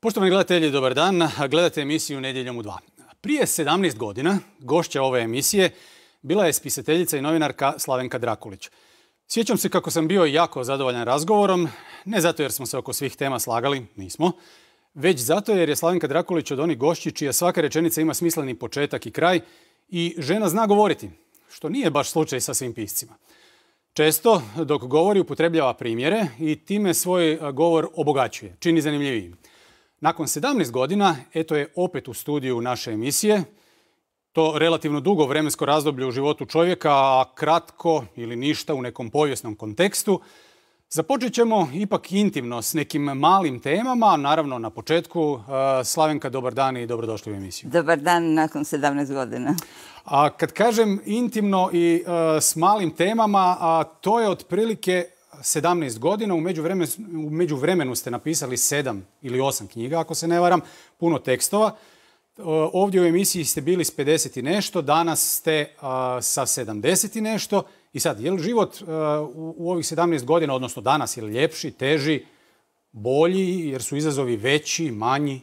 Poštovani gledatelji, dobar dan. Gledate emisiju Nedjeljom u 2. Prije 17 godina gošća ove emisije bila je spisateljica i novinarka Slavenka Drakulić. Sjećam se kako sam bio jako zadovoljan razgovorom, ne zato jer smo se oko svih tema slagali, nismo, već zato jer je Slavenka Drakulić od onih gošći čija svaka rečenica ima smisleni početak i kraj i žena zna govoriti, što nije baš slučaj sa svim piscima. Često, dok govori, upotrebljava primjere i time svoj govor obogaćuje, čini zanimljivijim. Nakon 17 godina, eto je opet u studiju naše emisije. To relativno dugo vremensko razdoblje u životu čovjeka, a kratko ili ništa u nekom povijesnom kontekstu. Započet ćemo ipak intimno s nekim malim temama. Naravno, na početku, Slavenka, dobar dan i dobrodošli u emisiju. Dobar dan nakon 17 godina. A kad kažem intimno i s malim temama, to je otprilike 17 godina. U međuvremenu ste napisali 7 ili 8 knjiga, ako se ne varam, puno tekstova. Ovdje u emisiji ste bili s 50 i nešto, danas ste sa 70 i nešto. I sad, je li život u ovih 17 godina, odnosno danas, je li ljepši, teži, bolji, jer su izazovi veći, manji?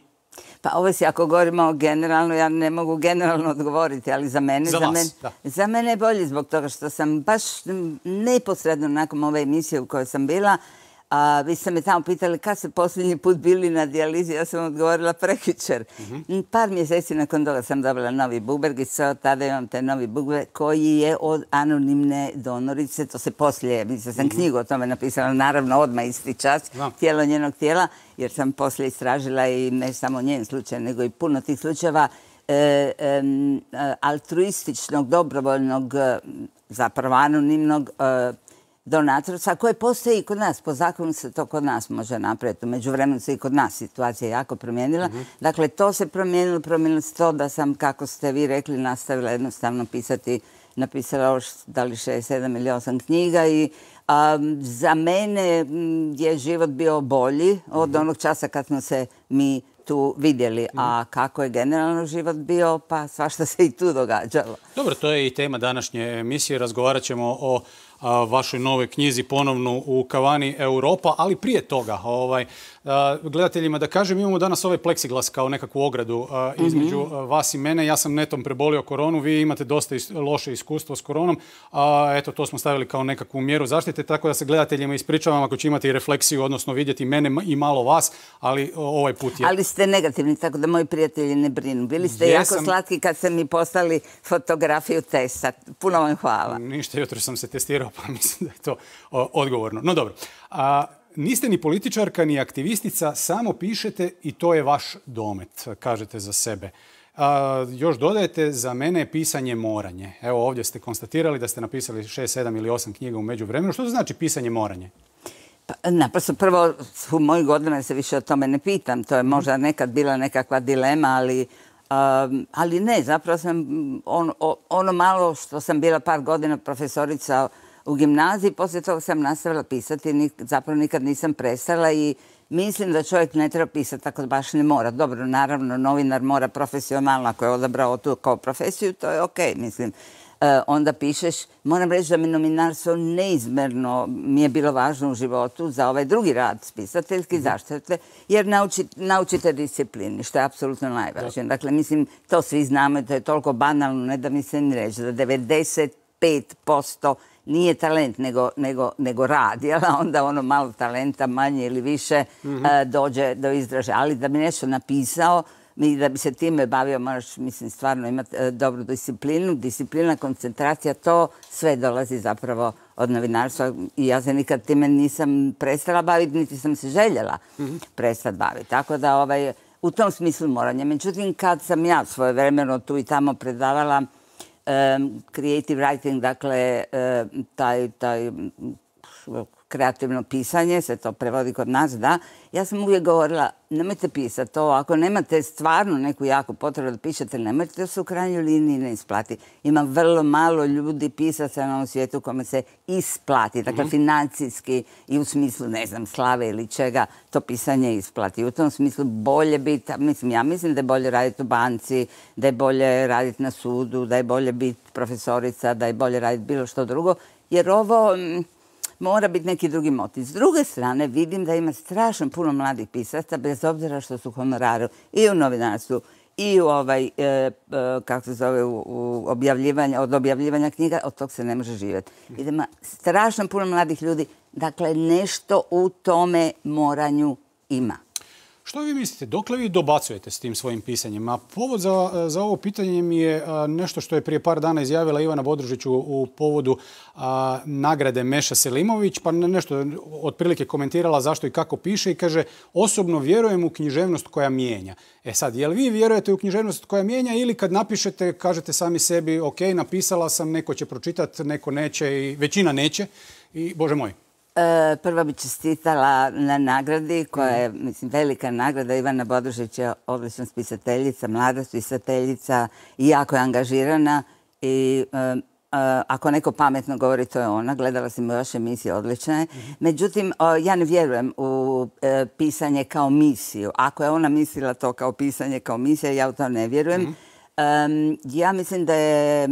Pa ovo si, ako govorimo generalno, ja ne mogu generalno odgovoriti, ali za mene je bolji zbog toga što sam baš neposredno nakon ove emisije u kojoj sam bila, vi ste me tamo pitali kad ste posljednji put bili na dijalizi, ja sam odgovorila prekjučer. Par mjeseci nakon toga sam dobila novi bubreg i tada imam taj novi bubreg koji je od anonimne donorice, to se poslije, mislim sam knjigu o tome napisala, naravno odmah isti čas, tijelo njenog tijela, jer sam poslije istražila i ne samo njen slučaj, nego i puno tih slučajeva altruističnog, dobrovoljnog, zapravo anonimnog donatorstva koje postoji i kod nas. Po zakonu se to kod nas može napraviti. U međuvremenu se i kod nas situacija jako promijenila. Dakle, to se promijenilo se to da sam, kako ste vi rekli, nastavila jednostavno pisati, napisala još da li 6, 7 ili 8 knjiga i za mene je život bio bolji od onog časa kad smo se mi tu vidjeli. A kako je generalno život bio, pa svašta se i tu događalo. Dobro, to je i tema današnje emisije. Razgovarat ćemo o vašoj novoj knjizi ponovno u kavani Europa, ali prije toga, gledateljima da kažem, imamo danas ovaj pleksiglas kao nekakvu ogradu između vas i mene. Ja sam netom prebolio koronu, vi imate dosta loše iskustvo s koronom. Eto, to smo stavili kao nekakvu mjeru zaštite, tako da se gledateljima ispričavam ako će imati i refleksiju, odnosno vidjeti mene i malo vas, ali ovaj put je... Ali ste negativni, tako da moji prijatelji ne brinu. Bili ste jako slatki kad ste mi poslali fotografiju testa. Puno vam hvala. Ništa, jutro sam se testirao, pa mislim da je to odgovorno. No dobro. Niste ni političarka, ni aktivistica, samo pišete i to je vaš domet, kažete za sebe. Još dodajete, za mene je pisanje moranje. Evo, ovdje ste konstatirali da ste napisali 6, 7 ili 8 knjiga u međuvremenu. Što to znači pisanje moranje? Naprosto, prvo, u mojih godina se više o tome ne pitam. To je možda nekad bila nekakva dilema, ali ne, zapravo sam ono malo što sam bila par godina profesorica u gimnaziji, poslije toga sam nastavila pisati, zapravo nikad nisam prestala i mislim da čovjek ne treba pisati tako da baš ne mora. Dobro, naravno, novinar mora profesionalno, ako je odabrao tu kao profesiju, to je okej, mislim. Onda pišeš, moram reći da mi novinarstvo neizmjerno mi je bilo važno u životu za ovaj drugi rad spisateljski, zaštite, jer naučite disciplini, što je apsolutno najvažnije. Dakle, mislim, to svi znamo i to je toliko banalno, ne da mi se ni reći, da 95% nije talent, nego rad, jer onda ono malo talenta, manje ili više, dođe do izražaja. Ali da bi nešto napisao, i da bi se time bavio, moraš, mislim, stvarno imati dobru disciplinu. Disciplina, koncentracija, to sve dolazi zapravo od novinarstva i ja se nikad time nisam prestala baviti, niti sam se željela prestati baviti. Tako da u tom smislu moranje. Međutim, kad sam ja svojevremeno tu i tamo predavala creative writing, dakle, taj kreativno pisanje, se to prevodi kod nas, da. Ja sam uvijek govorila, nemojte pisati to, ako nemate stvarno neku jaku potrebu da pišete, nemojte, to se u krajnjoj liniji ne isplati. Ima vrlo malo ljudi pisaca na ovom svijetu kome se isplati, dakle financijski i u smislu, ne znam, slave ili čega, to pisanje isplati. U tom smislu bolje biti, ja mislim da je bolje raditi u banci, da je bolje raditi na sudu, da je bolje biti profesorica, da je bolje raditi bilo što drugo, jer ovo... Mora biti neki drugi motiv. S druge strane, vidim da ima strašno puno mladih pisaca, bez obzira što su honoraru i u novinarstvu, i u kako se zove, od objavljivanja knjiga, od tog se ne može živjeti. Idemo, strašno puno mladih ljudi, dakle nešto u tome moranju ima. Što vi mislite, dokle vi dobacujete s tim svojim pisanjem? A povod za ovo pitanje mi je nešto što je prije par dana izjavila Ivana Bodružić u povodu nagrade Meša Selimović, pa nešto otprilike komentirala zašto i kako piše i kaže: osobno vjerujem u književnost koja mijenja. E sad, jel vi vjerujete u književnost koja mijenja ili kad napišete kažete sami sebi ok, napisala sam, neko će pročitati, neko neće i većina neće i Bože moj? Prvo bi čestitala na nagradi koja je, mislim, velika nagrada. Ivana Bodružić je odlična spisateljica, mlada spisateljica i jako je angažirana i ako neko pametno govori, to je ona. Gledala sam i vaše emisije, odlična je. Međutim, ja ne vjerujem u pisanje kao misiju. Ako je ona mislila to kao pisanje kao misija, ja u to ne vjerujem. Ja mislim da je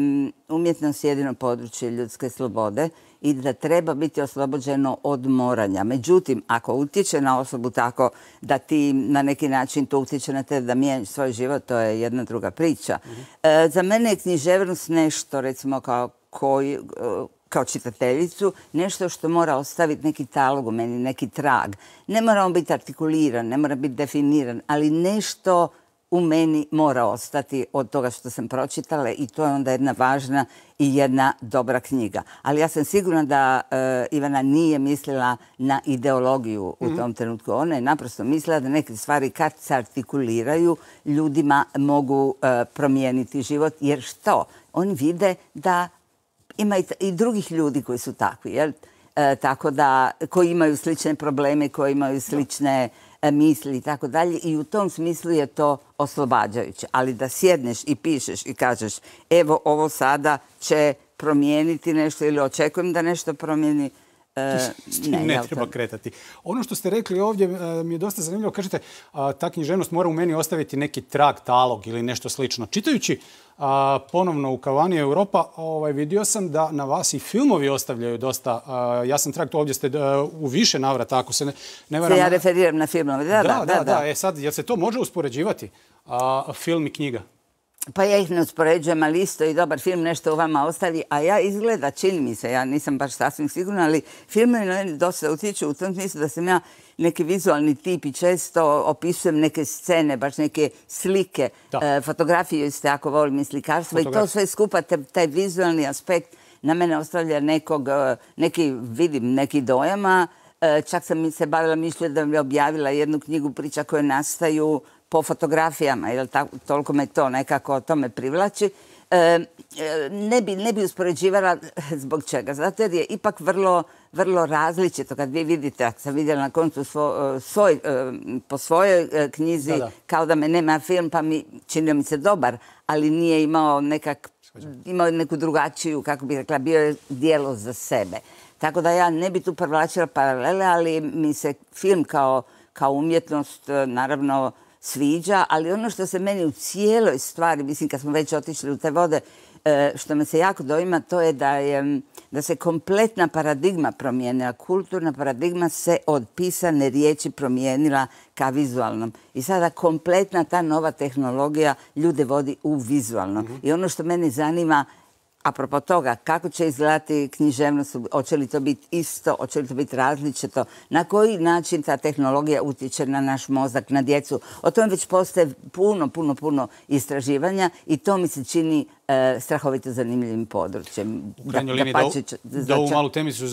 umjetnost jedino područje ljudske slobode i da treba biti oslobođeno od moranja. Međutim, ako utječe na osobu tako da ti na neki način to utječe na te da mijenjaš svoj život, to je jedna druga priča. Za mene je književnost nešto, recimo, kao čitateljicu, nešto što mora ostaviti neki talog u meni, neki trag. Ne mora on biti artikuliran, ne mora biti definiran, ali nešto u meni mora ostati od toga što sam pročitala i to je onda jedna važna i jedna dobra knjiga. Ali ja sam sigurna da Ivana nije mislila na ideologiju u tom trenutku. Ona je naprosto mislila da neke stvari kad se artikuliraju ljudima mogu promijeniti život. Jer što? Oni vide da ima i drugih ljudi koji su takvi. Jel? Tako da, koji imaju slične probleme, koji imaju slične misli i tako dalje. I u tom smislu je to oslobađajuće. Ali da sjedneš i pišeš i kažeš evo ovo sada će promijeniti nešto ili očekujem da nešto promijeni, ne treba kretati. Ono što ste rekli ovdje mi je dosta zanimljivo. Kažete, ta književnost mora u meni ostaviti neki trag, talog ili nešto slično. Čitajući ponovno u Kavani Europa, vidio sam da na vas i filmovi ostavljaju dosta jasan trag. To ovdje ste u više navrata, ako se ne varam. Ja referiram na filmove. Da. E sad, jel se to može uspoređivati, film i knjiga? Pa ja ih ne uspoređujem, ali isto i dobar film nešto u vama ostavi, a ja izgleda, čini mi se, ja nisam baš sasvim sigurna, ali filmovi na meni dosta utječu u tom smislu da sam ja neki vizualni tip i često opisujem neke scene, baš neke slike, fotografiju isto jako volim i slikarstvo i to sve skupa, taj vizualni aspekt na mene ostavlja neki dojama. Čak sam se bavila mišlju da bi objavila jednu knjigu priča koje nastaju po fotografijama, jer toliko me to nekako to me privlači. Ne bi uspoređivala zbog čega. Zato jer je ipak vrlo različito. Kad vi vidite, ako sam vidjela na koncu po svojoj knjizi, kao da me nema film, pa činio mi se dobar, ali nije imao neku drugačiju, kako bih rekla, bio je djelo za sebe. Tako da ja ne bi tu privlačila paralele, ali mi se film kao umjetnost naravno sviđa, ali ono što se meni u cijeloj stvari, mislim kad smo već otišli u te vode, što me se jako doima, to je da se kompletna paradigma promijenila. Kulturna paradigma se od pisane riječi promijenila ka vizualnom. I sada kompletna ta nova tehnologija ljude vodi u vizualno. I ono što mene zanima, apropo toga, kako će izgledati književnost, hoće li to biti isto, hoće li to biti različito, na koji način ta tehnologija utječe na naš mozak, na djecu. O tome već postoje puno istraživanja i to mi se čini strahovito zanimljivim područjem. U krajnjoj liniji da ovu malu temicu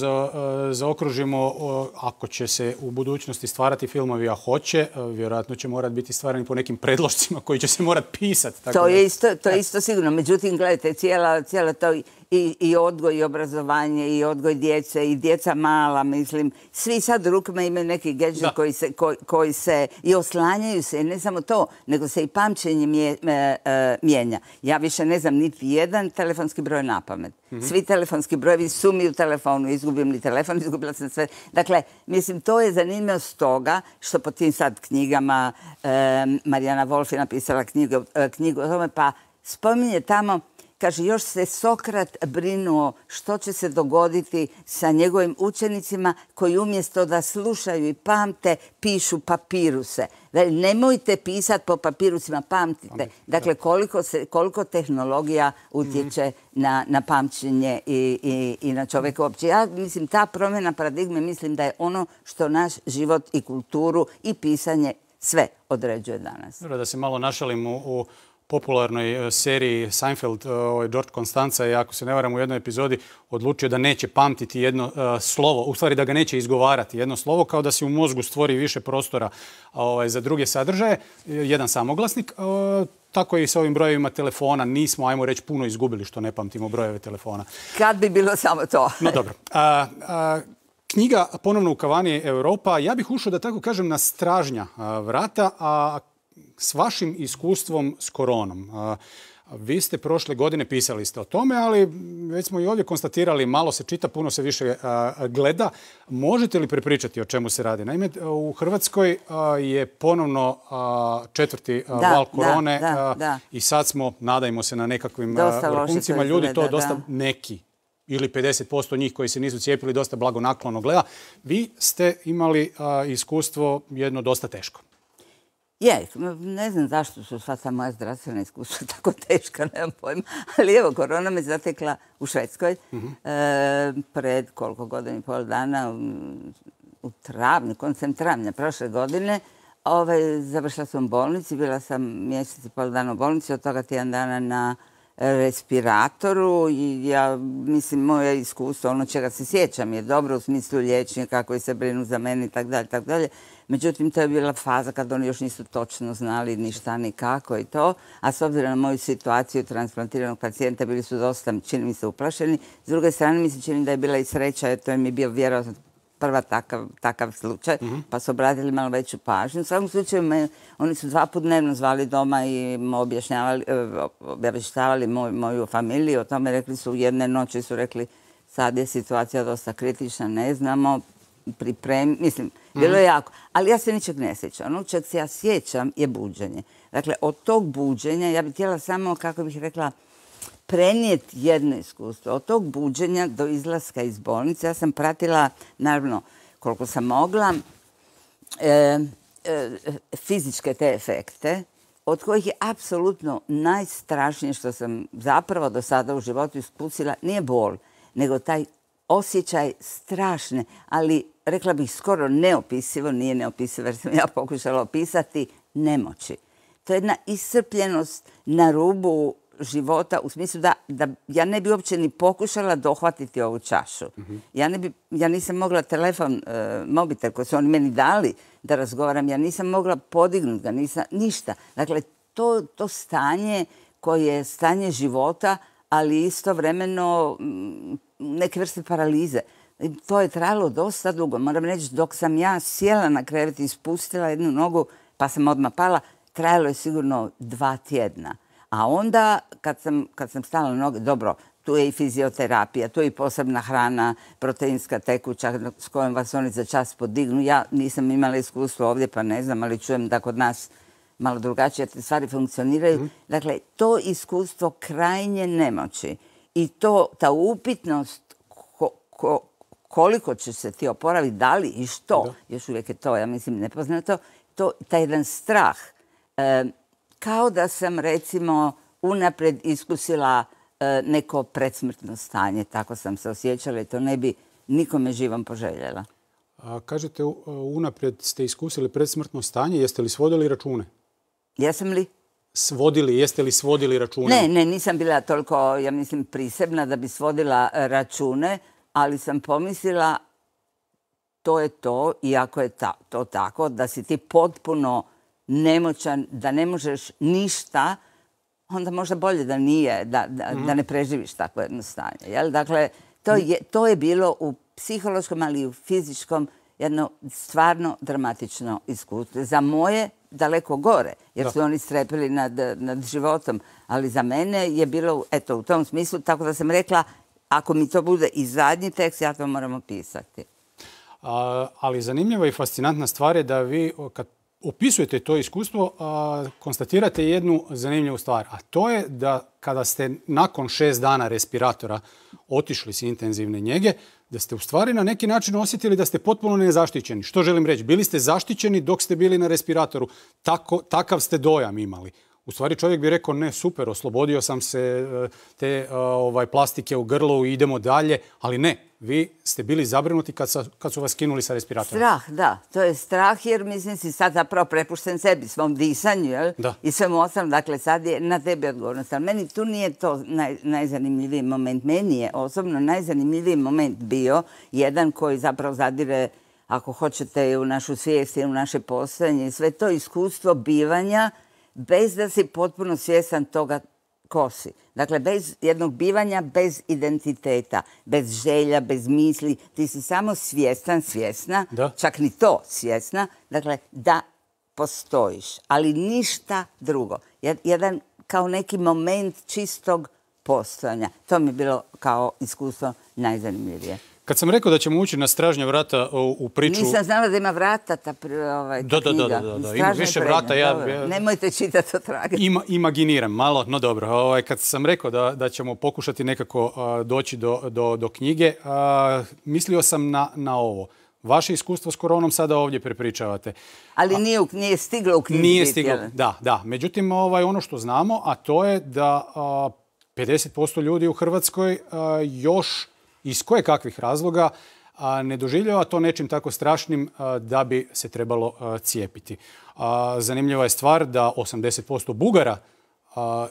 zaokružimo, ako će se u budućnosti stvarati filmovi, a hoće, vjerojatno će morati biti stvarani po nekim predlošcima koji će se morati pisati. To je isto sigurno. Međutim, gledajte, cijela to i odgoj i obrazovanje i odgoj djece i djeca mala, mislim. Svi sad u rukama imaju neki gadget koji se i oslanjaju se, ne samo to, nego se i pamćenje mijenja. Ja više ne znam niti jedan telefonski broj na pamet. Svi telefonski brojevi su mi u telefonu. Izgubim li telefon, izgubila sam sve. Dakle, mislim, to je zanimljivost toga što po tim sad knjigama Marijana Wolf je napisala knjigu o tome, pa spominje tamo kaže, još se Sokrat brinuo što će se dogoditi sa njegovim učenicima koji umjesto da slušaju i pamte, pišu papiruse. Nemojte pisati po papirusima, pamtite. Dakle, koliko tehnologija utječe na pamćenje i na čovjeka uopće. Ja mislim, ta promjena paradigme, mislim da je ono što naš život i kulturu i pisanje sve određuje danas. Da se malo našalim u popularnoj seriji Seinfeld, George Costanza je, ako se ne varam, u jednoj epizodi odlučio da neće pamtiti jedno slovo, u stvari da ga neće izgovarati jedno slovo, kao da se u mozgu stvori više prostora za druge sadržaje, jedan samoglasnik. Tako i sa ovim brojevima telefona nismo, ajmo reći, puno izgubili što ne pamtimo brojeve telefona. Kad bi bilo samo to. No dobro. Knjiga ponovno u kavani Europa. Ja bih ušao, da tako kažem, na stražnja vrata, a s vašim iskustvom s koronom. Vi ste prošle godine pisali ste o tome, ali već smo i ovdje konstatirali, malo se čita, puno se više gleda. Možete li prepričati o čemu se radi? Naime, u Hrvatskoj je ponovno četvrti val korone i sad smo, nadajmo se, na nekakvim vrhuncima. Ljudi to dosta neki ili 50% njih koji se nisu cijepili dosta blagonaklono gleda. Vi ste imali iskustvo jedno dosta teško. Ne znam zašto su sva ta moja zdravstvena iskustva tako teška, nemam pojma. Ali evo, korona me zatekla u Švedskoj pred koliko godina i pol dana, u travnju, koncem travnja prošle godine. Završila sam u bolnici, bila sam mjesec i pol dana u bolnici, od toga tjedan dana na respiratoru i ja mislim moje iskustvo, ono čega se sjećam je dobro u smislu liječnika koji se brinu za mene i tako dalje. Međutim, to je bila faza kad oni još nisu točno znali ni šta ni kako i to, a s obzirom na moju situaciju transplantiranog pacijenta bili su dosta, čini mi se, uplašeni. S druge strane mi se čini da je bila i sreća, jer to je mi bio vjerojatno prva takav slučaj, pa su obratili malo veću pažnju. U svakom slučaju, oni su 2 puta dnevno zvali doma i objašnjavali moju familiju. O tome rekli su, jedne noći su rekli, sad je situacija dosta kritična, ne znamo, mislim, bilo je jako. Ali ja se ničeg ne sjećam. Ono čeg se ja sjećam je buđenje. Dakle, od tog buđenja, ja bih htjela samo, kako bih rekla, prenijeti jedno iskustvo. Od tog buđenja do izlaska iz bolnice ja sam pratila, naravno, koliko sam mogla, fizičke te efekte, od kojih je apsolutno najstrašnije što sam zapravo do sada u životu iskusila, nije bol, nego taj osjećaj strašne, ali rekla bih skoro neopisivo, nije neopisivo jer sam ja pokušala opisati, nemoći. To je jedna iscrpljenost na rubu života u smislu da ja ne bi uopće ni pokušala dohvatiti ovu čašu. Ja nisam mogla telefon, mobitel koji su oni meni dali da razgovaram, ja nisam mogla podignuti ga, ništa. Dakle, to stanje koje je stanje života, ali istovremeno neke vrste paralize. To je trajalo dosta dugo. Moram reći, dok sam ja sjela na krevet i spustila jednu nogu, pa sam odmah pala, trajalo je sigurno 2 tjedna. A onda, kad sam stala na noge, dobro, tu je i fizioterapija, tu je i posebna hrana, proteinska tekuća s kojom vas oni za čas podignu. Ja nisam imala iskustvo ovdje, pa ne znam, ali čujem da kod nas malo drugačije te stvari funkcioniraju. Dakle, to iskustvo krajnje nemoći i ta upitnost koliko će se ti oporaviti, da li i što, još uvijek je to, ja mislim, nepoznato, taj jedan strah. Kao da sam, recimo, unaprijed iskusila neko predsmrtno stanje. Tako sam se osjećala i to ne bi nikome živom poželjela. Kažete, unaprijed ste iskusili predsmrtno stanje. Jeste li svodili račune? Jesam li? Jeste li svodili račune? Ne, nisam bila toliko, ja mislim, prisebna da bi svodila račune, ali sam pomislila to je to, iako je to tako, da si ti potpuno nemoćan, da ne možeš ništa, onda možda bolje da nije, da ne preživiš takvo jedno stanje. Dakle, to je bilo u psihološkom, ali i u fizičkom jedno stvarno dramatično iskustvo. Za moje daleko gore, jer su oni strepili nad životom, ali za mene je bilo, eto, u tom smislu, tako da sam rekla, ako mi to bude i zadnji tekst, ja to moram opisati. Ali zanimljiva i fascinantna stvar je da vi, kad opisujete to iskustvo, konstatirate jednu zanimljivu stvar, a to je da kada ste nakon 6 dana respiratora otišli s intenzivne njege, da ste u stvari na neki način osjetili da ste potpuno nezaštićeni. Što želim reći? Bili ste zaštićeni dok ste bili na respiratoru. Takav ste dojam imali. U stvari čovjek bi rekao, ne, super, oslobodio sam se te plastike u grlu, idemo dalje, ali ne. Vi ste bili zabrinuti kad su vas skinuli sa respiratora. Strah, da. To je strah jer mislim si sad zapravo prepušten sebi, svom disanju, jel? I svemu osam. Dakle, sad je na tebi odgovornost. Ali meni tu nije to najzanimljiviji moment. Meni je osobno najzanimljiviji moment bio jedan koji zapravo zadire, ako hoćete, u našu svijest i u naše postojanje. Sve to iskustvo bivanja bez da si potpuno svjestan toga ko si. Dakle, bez jednog bivanja, bez identiteta, bez želja, bez misli. Ti si samo svjesna, čak ni to svjesna, dakle, da postojiš. Ali ništa drugo. Jedan kao neki moment čistog postojanja. To mi je bilo kao iskustvo najzanimljivije. Kad sam rekao da ćemo ući na stražnja vrata u priču... Nisam znala da ima vrata ta knjiga. Da, ima više vrata. Nemojte čitati o trage. Imaginiram malo, no dobro. Kad sam rekao da ćemo pokušati nekako doći do knjige, mislio sam na ovo. Vaše iskustvo s koronom sada ovdje prepričavate. Ali nije stiglo u knjizi. Nije stiglo, da. Međutim, ono što znamo, a to je da 50% ljudi u Hrvatskoj još iz koje kakvih razloga ne doživljava to nečim tako strašnim da bi se trebalo cijepiti. Zanimljiva je stvar da 80% Bugara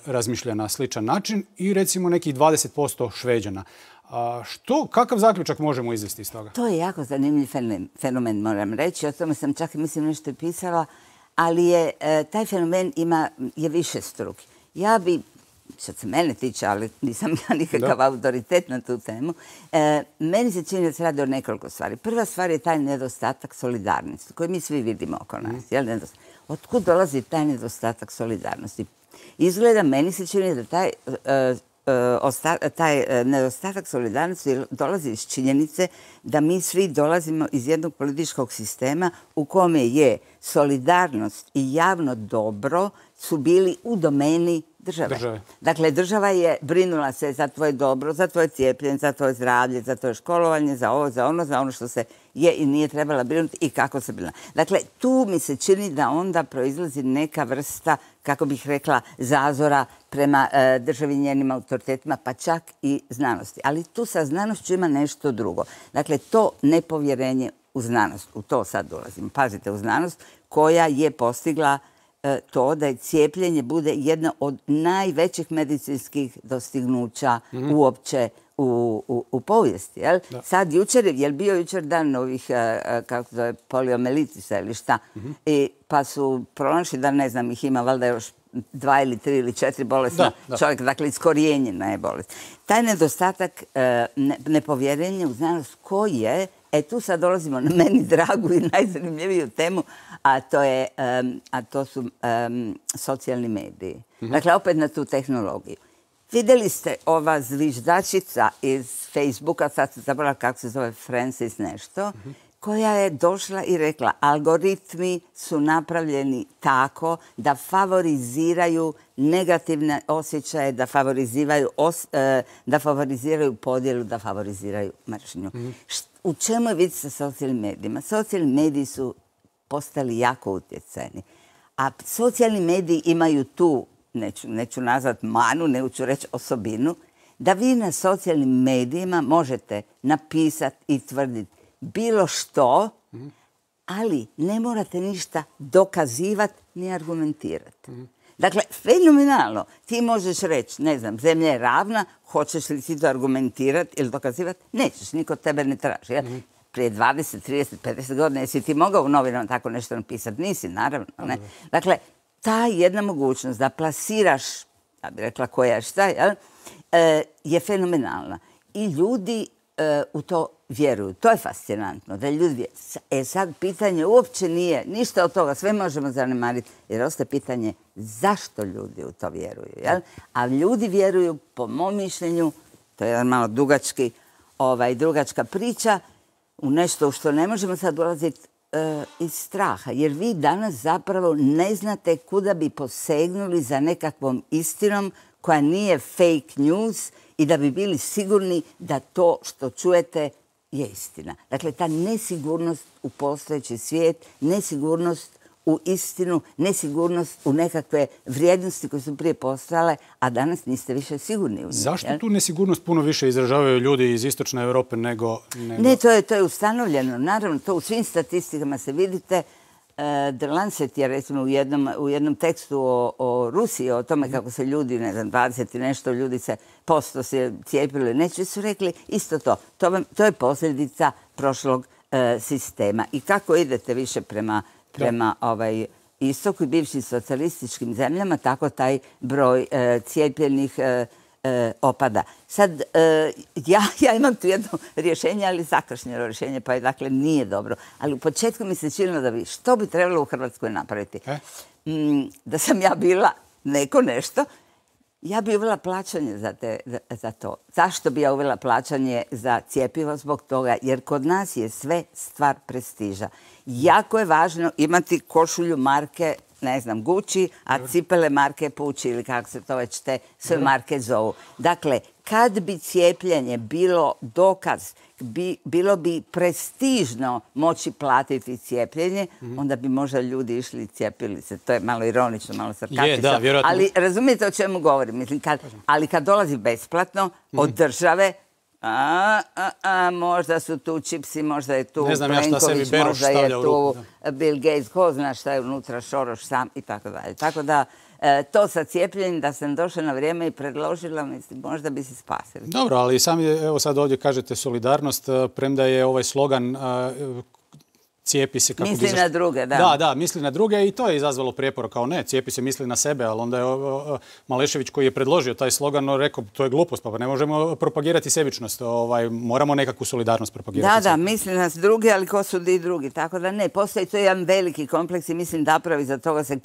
razmišlja na sličan način i recimo nekih 20% Šveđana. Kakav zaključak možemo izvesti iz toga? To je jako zanimljiv fenomen, moram reći. O tome sam čak mislim nešto pisala, ali taj fenomen je višestruki. Ja bi, što se mene tiče, ali nisam ja nikakav autoritet na tu temu, meni se čini da se radi o nekoliko stvari. Prva stvar je taj nedostatak solidarnosti koji mi svi vidimo oko nas. Otkud dolazi taj nedostatak solidarnosti? Izgleda, meni se čini da taj nedostatak solidarnosti dolazi iz činjenice da mi svi dolazimo iz jednog političkog sistema u kome je solidarnost i javno dobro su bili u domeni države. Dakle, država je brinula se za tvoje dobro, za tvoje cijepljenje, za tvoje zdravlje, za tvoje školovanje, za ovo, za ono što se je i nije trebala brinuti i kako se brinula. Dakle, tu mi se čini da onda proizlazi neka vrsta, kako bih rekla, zazora prema državi i njenim autoritetima, pa čak i znanosti. Ali tu sa znanošću ima nešto drugo. Dakle, to nepovjerenje u znanost, u to sad dolazim. Pazite, u znanost koja je postigla to da je cijepljenje bude jedno od najvećih medicinskih dostignuća uopće u povijesti. Sad jučer, je li bio jučer dan ovih, kako se zove, poliomelitisa ili šta, pa su pronašli da, ne znam, ih ima valjda još 2 ili 3 ili 4 bolesna čovjek, dakle iskorijenjena je bolest. Taj nedostatak nepovjerenja u znanost koji je, tu sad dolazimo na meni dragu i najzanimljiviju temu, a to su socijalni mediji. Dakle, opet na tu tehnologiju. Vidjeli ste ova zviždačica iz Facebooka, sad se zaboravila kako se zove, Francis nešto, koja je došla i rekla, algoritmi su napravljeni tako da favoriziraju negativne osjećaje, da favoriziraju podjelu, da favoriziraju mržnju. U čemu je vic sa socijalnim medijima? Socijalni mediji su postali jako utjecajni. A socijalni mediji imaju tu, neću nazvati manu, neću reći osobinu, da vi na socijalnim medijima možete napisati i tvrditi bilo što, ali ne morate ništa dokazivati ni argumentirati. Dakle, fenomenalno. Ti možeš reći, ne znam, zemlja je ravna, hoćeš li ti to argumentirati ili dokazivati? Nećeš, niko tebe ne traži. Prije 20, 30, 50 godina jesi ti mogao u novinama tako nešto napisati? Nisi, naravno. Ne? Dakle, ta jedna mogućnost da plasiraš, ja bih rekla koja šta, je fenomenalna. I ljudi u to vjeruju. To je fascinantno. Da ljudi vjeruju. Sad pitanje uopće nije ništa od toga. Sve možemo zanemariti. Jer ostaje pitanje zašto ljudi u to vjeruju. Jel? A ljudi vjeruju, po mom mišljenju, to je jedan malo dugačka priča, u nešto u što ne možemo sad ulaziti iz straha. Jer vi danas zapravo ne znate kuda bi posegnuli za nekakvom istinom koja nije fake news i da bi bili sigurni da to što čujete je istina. Dakle, ta nesigurnost u postojeći svijet, nesigurnost u istinu, nesigurnost u nekakve vrijednosti koje su prije postojale, a danas niste više sigurni u njih. Zašto tu nesigurnost puno više izražavaju ljudi iz istočne Europe nego... Ne, to je ustanovljeno. Naravno, to u svim statistikama se vidite. The Lancet je recimo u jednom tekstu o Rusiji, o tome kako se ljudi, ne znam, 20 i nešto ljudi posto se cijepili, neće, su rekli isto to. To je posljedica prošlog sistema. I kako idete više prema istoku i bivšim socijalističkim zemljama, tako taj broj cijepljenih opada. Sad, ja imam tu jedno rješenje, ali zakašnjelo rješenje, pa je dakle nije dobro. Ali u početku mi se činilo da bi što bi trebalo u Hrvatskoj napraviti. Da sam ja bila nešto, ja bi uvela plaćanje za to. Zašto bi ja uvela plaćanje za cjepivo? Zbog toga, jer kod nas je sve stvar prestiža. Jako je važno imati košulju marke, ne znam, Gucci, a cipele marke Pucci ili kako se to već te sve marke zovu. Dakle, kad bi cijepljenje bilo dokaz, bilo bi prestižno moći platiti cijepljenje, onda bi možda ljudi išli i cijepili se. To je malo ironično, malo sarkastično. Ali razumijete o čemu govorim. Mislim, ali kad dolazi besplatno od države, možda su tu čipsi, možda je tu Plenković, možda je tu Bill Gates, ko zna šta je unutra, Šoroš sam i tako dalje. Tako da to sa cijepljenjem, da sam došla na vrijeme i predložila, mislim, možda bi se spasili. Dobro, ali sami, evo sad ovdje kažete solidarnost, premda je ovaj slogan cijepi se kako misli na druge, da. Da, misli na druge i to je izazvalo prijepor kao ne, cijepi se misli na sebe, ali onda je Malešević koji je predložio taj slogan rekao to je glupost, pa ne možemo propagirati sebičnost, moramo nekakvu solidarnost propagirati. Da, misli na druge, ali ko su i drugi, tako da ne, postoji to jedan veliki kompleks i mislim da pravi za toga se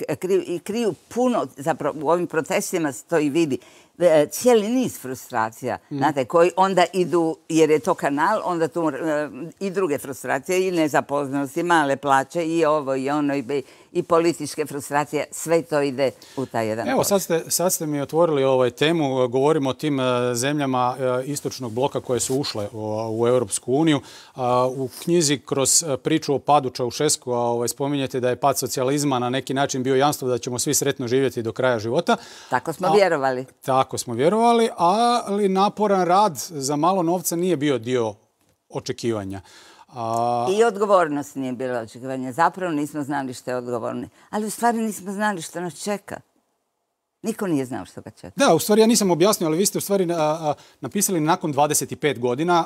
kriju puno, zapravo u ovim protestima se to i vidi. Cijeli niz frustracija, znate, koji onda idu, jer je to kanal, onda tu i druge frustracije, i nezaposlenost, i male plaće, i ovo, i ono, i političke frustracije, sve to ide u taj jedan Evo, sad ste mi otvorili temu, govorimo o tim zemljama istočnog bloka koje su ušle u Europsku uniju. U knjizi kroz priču o padu Čaušesku spominjete da je pad socijalizma na neki način bio jamstvo da ćemo svi sretno živjeti do kraja života. Tako smo vjerovali. Tako smo vjerovali, ali naporan rad za malo novca nije bio dio očekivanja. I odgovornost nije bila očekivanja. Zapravo nismo znali što je odgovorni. Ali u stvari nismo znali što nas čeka. Niko nije znao što ga čeka. Da, u stvari ja nisam objasnio, ali vi ste u stvari napisali nakon 25 godina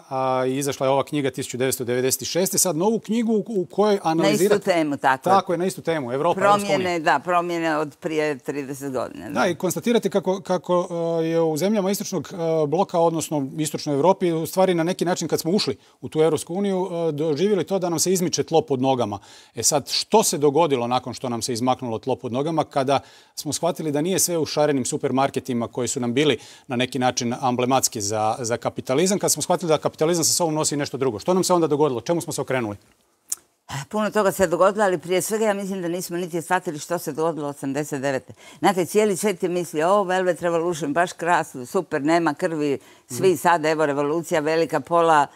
i izašla je ova knjiga 1996. Sad novu knjigu u kojoj analizirate... Na istu temu, tako. Tako je, na istu temu. Evropa, Europska unija. Promjene od prije 30 godina. Da, i konstatirate kako je u zemljama istočnog bloka, odnosno istočnoj Europi, u stvari na neki način kad smo ušli u tu Europsku uniju, doživjeli to da nam se izmiče tlo pod nogama. Sad, što se dogodilo nakon što nam se izmaknulo tlo pod nogama kada smo shvatili da nije sve u šarenim supermarketima koji su nam bili na neki način amblematski za kapitalizam, kad smo shvatili da kapitalizam sa sobom nosi nešto drugo. Što nam se onda dogodilo? Čemu smo se okrenuli? Puno toga se dogodilo, ali prije svega ja mislim da nismo niti shvatili što se dogodilo 89. Znate, cijeli svijet je mislio, Velvet Revolution, baš krasno, super, nema krvi, svi sad, evo, revolucija velika, pola,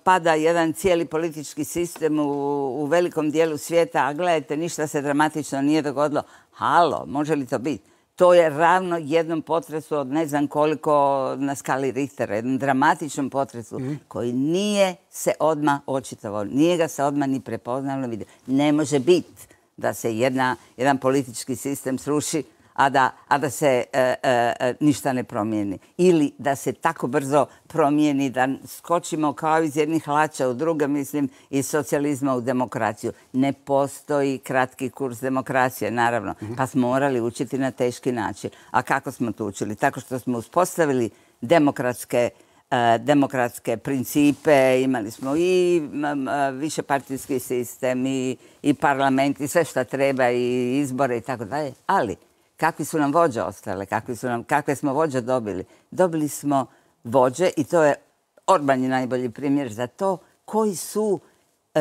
pada jedan cijeli politički sistem u velikom dijelu svijeta, a gledajte, ništa se dramatično nije dogodilo. Halo, može li to biti? To je ravno jednom potresu od ne znam koliko na skali Richtera, jednom dramatičnom potresu koji nije se odmah očitovao, nije ga se odmah ni prepoznalo vidio. Ne može biti da se jedan politički sistem sruši, a da se ništa ne promijeni. Ili da se tako brzo promijeni da skočimo kao iz jednih hlača u druga, mislim, iz socijalizma u demokraciju. Ne postoji kratki kurs demokracije, naravno. Pa smo morali učiti na teški način. A kako smo to učili? Tako što smo uspostavili demokratske principe, imali smo i višepartijski sistem i parlament i sve što treba i izbore i tako dalje. Ali kakvi su nam vođe ostale, kakve smo vođe dobili? Dobili smo vođe, i to je Orban je najbolji primjer za to, koji su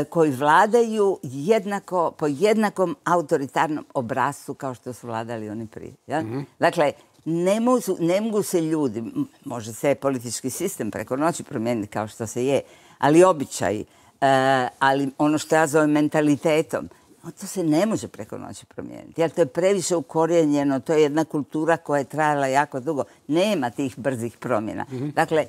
koji vladaju jednako, po jednakom autoritarnom obrascu kao što su vladali oni prije. Ja? Dakle, ne mogu se ljudi, može se politički sistem preko noći promijeniti kao što se je, ali običaji, ali ono što ja zovem mentalitetom, to se ne može preko noći promijeniti. Jer to je previše ukorijenjeno, to je jedna kultura koja je trajala jako dugo. Nema tih brzih promjena. Dakle,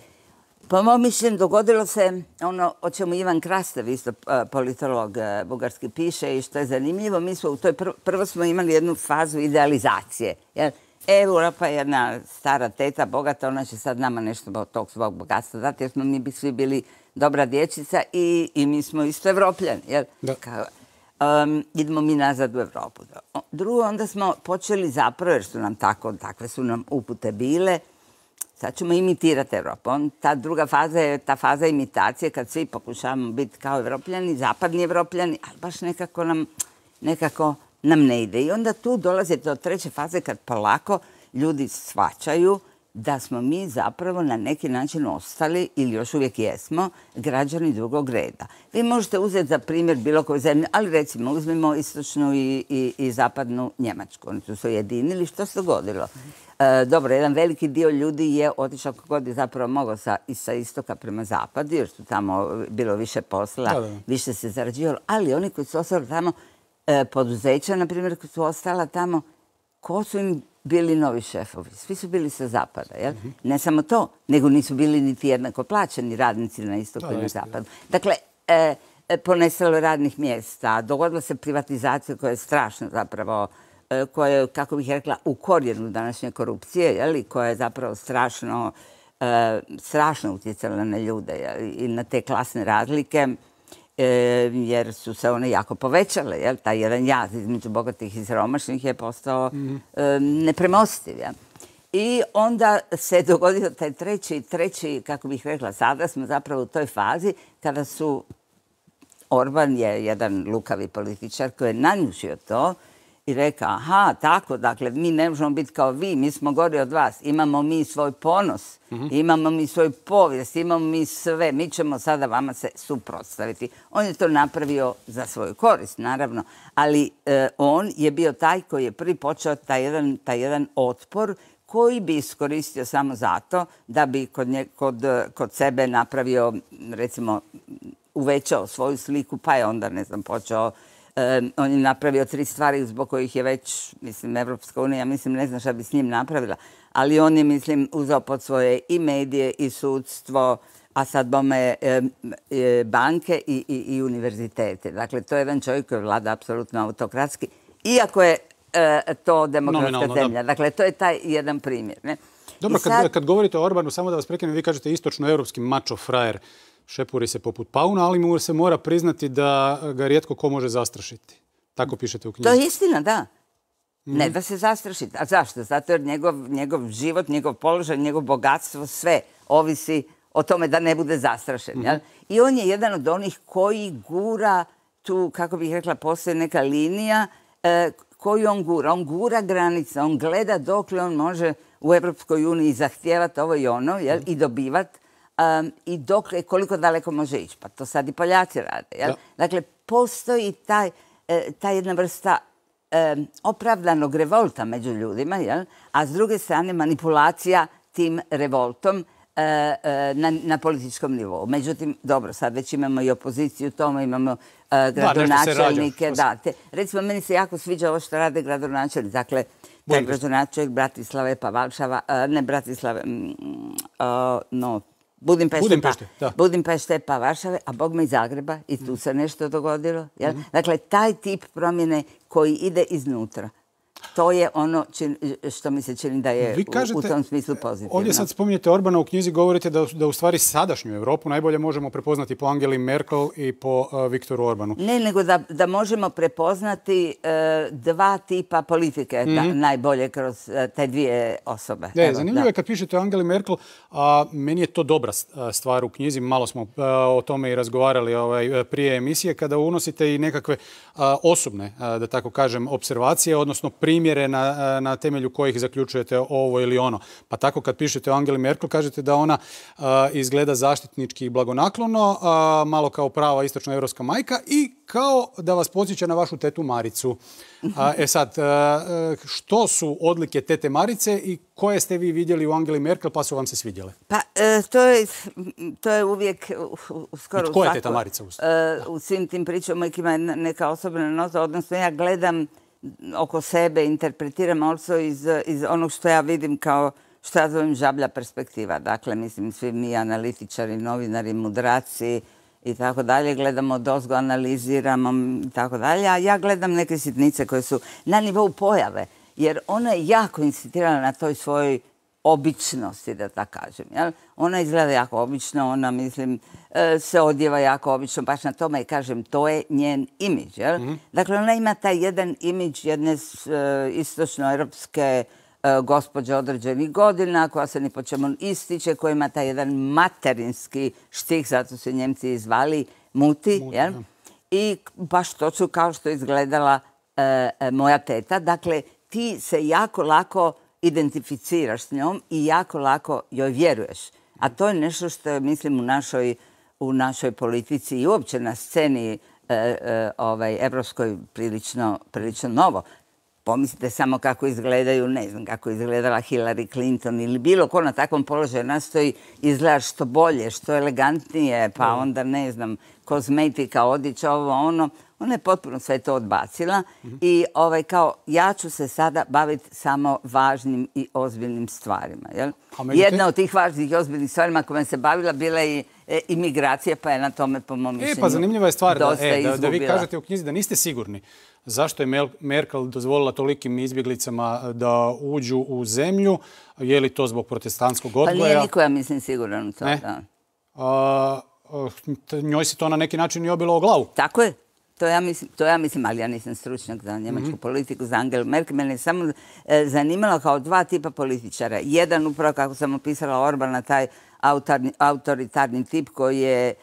po mom mišljenju dogodilo se ono o čemu Ivan Krastev, isto politolog bugarski, piše i što je zanimljivo. Mi smo prvo smo imali jednu fazu idealizacije. Jer Europa je jedna stara teta, bogata, ona će sad nama nešto od tog svog bogatstva dati, jer smo mi svi bili dobra dječica i mi smo isto Evropljani. Idemo mi nazad u Evropu. Drugo, onda smo počeli zapravo, jer su nam takve su nam upute bile, sad ćemo imitirati Evropu. Ta druga faza je ta faza imitacije kad svi pokušavamo biti kao Evropljani, zapadni Evropljani, ali baš nekako nam ne ide. I onda tu dolazi do treće faze kad polako ljudi shvaćaju da smo mi zapravo na neki način ostali, ili još uvijek jesmo, građani drugog reda. Vi možete uzeti za primjer bilo koju zemlju, ali recimo uzmimo istočnu i zapadnu Njemačku. Oni su se ujedinili. Što se dogodilo? Dobro, jedan veliki dio ljudi je otišao kako god je zapravo mogao sa istoka prema zapadu, jer su tamo bilo više posla, više se zarađivalo, ali oni koji su ostali tamo, poduzeća, na primjer, koji su ostala tamo, ko su im bili novi šefovi? Svi su bili sa zapada. Jel? Ne samo to, nego nisu bili niti jednako plaćeni radnici na istoku i na zapadu. Dakle, ponestalo radnih mjesta, dogodila se privatizacija koja je strašna zapravo, koja je, kako bih rekla, u korijenu današnje korupcije, koja je zapravo strašno utjecala na ljude i na te klasne razlike, jer su se one jako povećale. Taj jedan jaz između bogatih i siromašnih je postao nepremostiv. I onda se dogodio taj treći, kako bih rekla, sada smo zapravo u toj fazi kada su, Orban je jedan lukavi političar koji je nanjušio to i rekao, aha, tako, dakle, mi ne možemo biti kao vi, mi smo gori od vas, imamo mi svoj ponos, imamo mi svoju povijest, imamo mi sve, mi ćemo sada vama se suprotstaviti. On je to napravio za svoju korist, naravno, ali on je bio taj koji je prvi počeo taj jedan otpor koji bi iskoristio samo zato da bi kod sebe napravio, recimo, uvećao svoju sliku, pa je onda, ne znam, počeo. On je napravio 3 stvari zbog kojih je već, mislim, Evropska unija, mislim, ne znam šta bi s njim napravila, ali on je, mislim, uzeo pod svoje i medije i sudstvo, a sad bome banke i univerzitete. Dakle, to je jedan čovjek koji vlada apsolutno autokratski, iako je to demokratska zemlja. Dakle, to je taj jedan primjer. Dobro, kad govorite o Orbanu, samo da vas prekinem, vi kažete istočnoevropski mačo frajer. Šepuri se poput pauna, ali mu se mora priznati da ga rijetko ko može zastrašiti. Tako pišete u knjizi. To je istina, da. Ne da se zastrašiti. A zašto? Zato jer njegov život, njegov položaj, njegov bogatstvo, sve ovisi o tome da ne bude zastrašen. I on je jedan od onih koji gura tu, kako bih rekla, postoji neka linija koju on gura. On gura granice, on gleda dokle on može u Evropskoj uniji zahtijevati ovo i ono i dobivati. I dokle, koliko daleko može ići. Pa to sad i Poljaci rade. Dakle, postoji ta jedna vrsta opravdanog revolta među ljudima, a s druge strane manipulacija tim revoltom na političkom nivou. Međutim, dobro, sad već imamo i opoziciju tome, imamo gradonačelnike. Recimo, meni se jako sviđa ovo što rade gradonačelnici. Dakle, taj gradonačelnik Bratislave pa Varšava, ne Bratislave, Budimpešte pa Varšave, a bogme i Zagreba, i tu se nešto dogodilo. Dakle, taj tip promjene koji ide iznutra, to je ono što mi se čini da je u tom smislu pozitivno. Ovdje sad spominjete Orbana, u knjizi govorite da u stvari sadašnju Europu najbolje možemo prepoznati po Angeli Merkel i po Viktoru Orbanu. Ne, nego da možemo prepoznati 2 tipa politike najbolje kroz te 2 osobe. Zanimljivo je kad pišete o Angeli Merkel, a meni je to dobra stvar u knjizi, malo smo o tome i razgovarali prije emisije, kada unosite i nekakve osobne, da tako kažem, observacije, odnosno primjere namjere na temelju kojih zaključujete ovo ili ono. Pa tako kad pišete o Angeli Merkel kažete da ona izgleda zaštitnički i blagonaklono, malo kao prava istočnoevropska majka i kao da vas podsjeća na vašu tetu Maricu. Sad, što su odlike tete Marice i koje ste vi vidjeli u Angeli Merkel pa su vam se svidjele? Pa, to je uvijek skoro tko je teta Marica? U svim tim pričama uvijek ima neka osobna nota, odnosno ja gledam oko sebe, interpretiram also iz onog što ja vidim kao što ja zovem žablja perspektiva. Dakle, mislim, svi mi analitičari, novinari, mudraci i tako dalje, gledamo dozgo, analiziramo i tako dalje, a ja gledam neke sitnice koje su na nivou pojave, jer ona je jako insistirala na toj svojoj običnosti, da tako kažem. Jel? Ona izgleda jako obično, ona, mislim, se odjeva jako obično, baš na tome i kažem, to je njen imidž. Dakle, ona ima taj jedan imidž jedne istočnoeuropske gospođe određenih godina, koja se ni po čemu ističe, koja ima taj jedan materinski štih, zato su Njemci i zvali muti. I baš točno kao što je izgledala moja teta. Dakle, ti se jako lako identificiraš s njom i jako lako joj vjeruješ. A to je nešto što je, mislim, u našoj politici i uopće na sceni evropskoj prilično novo. Pomislite samo kako izgledaju, ne znam, kako izgledala Hillary Clinton ili bilo ko na takvom položaju nastoji izgledati što bolje, što elegantnije, pa onda, ne znam, kozmetika, odjeća, ovo, ono. Ona je potpuno sve to odbacila i kao ja ću se sada baviti samo važnim i ozbiljnim stvarima. Jedna od tih važnih i ozbiljnih stvarima kojima se bavila bila je imigracija, pa je na tome, po mom mišljenju, pa zanimljiva je stvar da vi kažete u knjizi da niste sigurni zašto je Merkel dozvolila tolikim izbjeglicama da uđu u zemlju. Je li to zbog protestantskog odgoja? Pa nije niko, ja mislim, siguran u to. Njoj se to na neki način i obilo o glavu. Tako je. To ja mislim, ali ja nisam stručnjak za njemačku politiku, za Angelu Merkel. Mene je samo zanimalo kao dva tipa političara. Jedan, upravo kako sam opisala Orbana, taj autoritarni tip koji je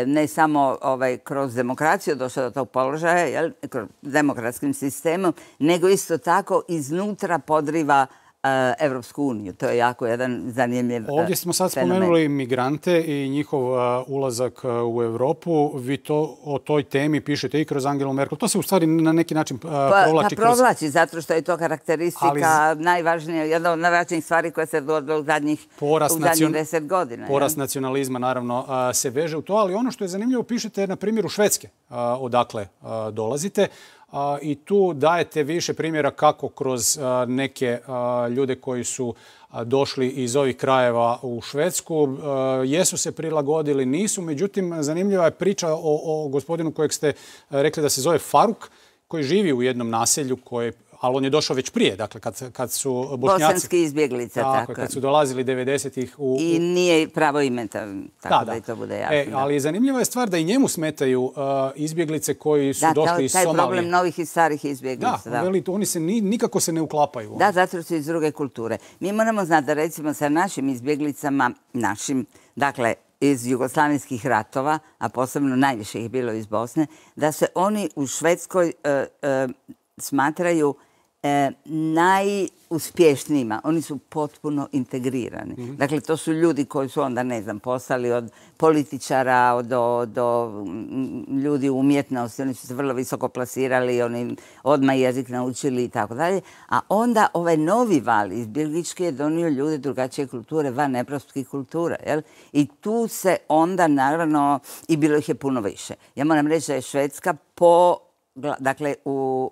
ne samo kroz demokraciju došao do tog položaja, kroz demokratskim sistemom, nego isto tako iznutra podriva Evropsku uniju. To je jako jedan zanimljiv fenomen. Ovdje smo sad spomenuli migrante i njihov ulazak u Europu. Vi o toj temi pišete i kroz Angelu Merkel. To se u stvari na neki način provlači kroz... Provlači, zato što je to karakteristika najvažnija, jedna od najvažnijih stvari koja se dogodila u zadnjih 10 godina. Porast nacionalizma, naravno, se veže u to, ali ono što je zanimljivo pišete na primjeru Švedske, odakle dolazite. I tu dajete više primjera kako kroz neke ljude koji su došli iz ovih krajeva u Švedsku, jesu se prilagodili, nisu. Međutim, zanimljiva je priča o gospodinu kojeg ste rekli da se zove Faruk, koji živi u jednom naselju ali on je došao već prije, dakle, kad su Bošnjaci... Bosanski izbjeglica, tako. Kad su dolazili 90-ih I nije pravo ime, tako da i to bude jasno. Ali zanimljiva je stvar da i njemu smetaju izbjeglice koji su došli iz Somalije. Taj problem novih i starih izbjeglica. Da, oni se nikako se ne uklapaju. Da, zato su iz druge kulture. Mi moramo znati da, recimo, sa našim izbjeglicama, dakle, iz jugoslavijskih ratova, a posebno najviše ih bilo iz Bosne, da se oni u Švedskoj smatraju najuspješnijima. Oni su potpuno integrirani. Dakle, to su ljudi koji su onda, ne znam, postali od političara do ljudi u umjetnosti. Oni su se vrlo visoko plasirali, oni odmah jezik naučili i tako dalje. A onda ovaj novi val izbjeglički je donio ljude drugačije kulture, van evropskih kultura. I tu se onda, naravno, i bilo ih je puno više. Ja moram reći da je Švedska dakle,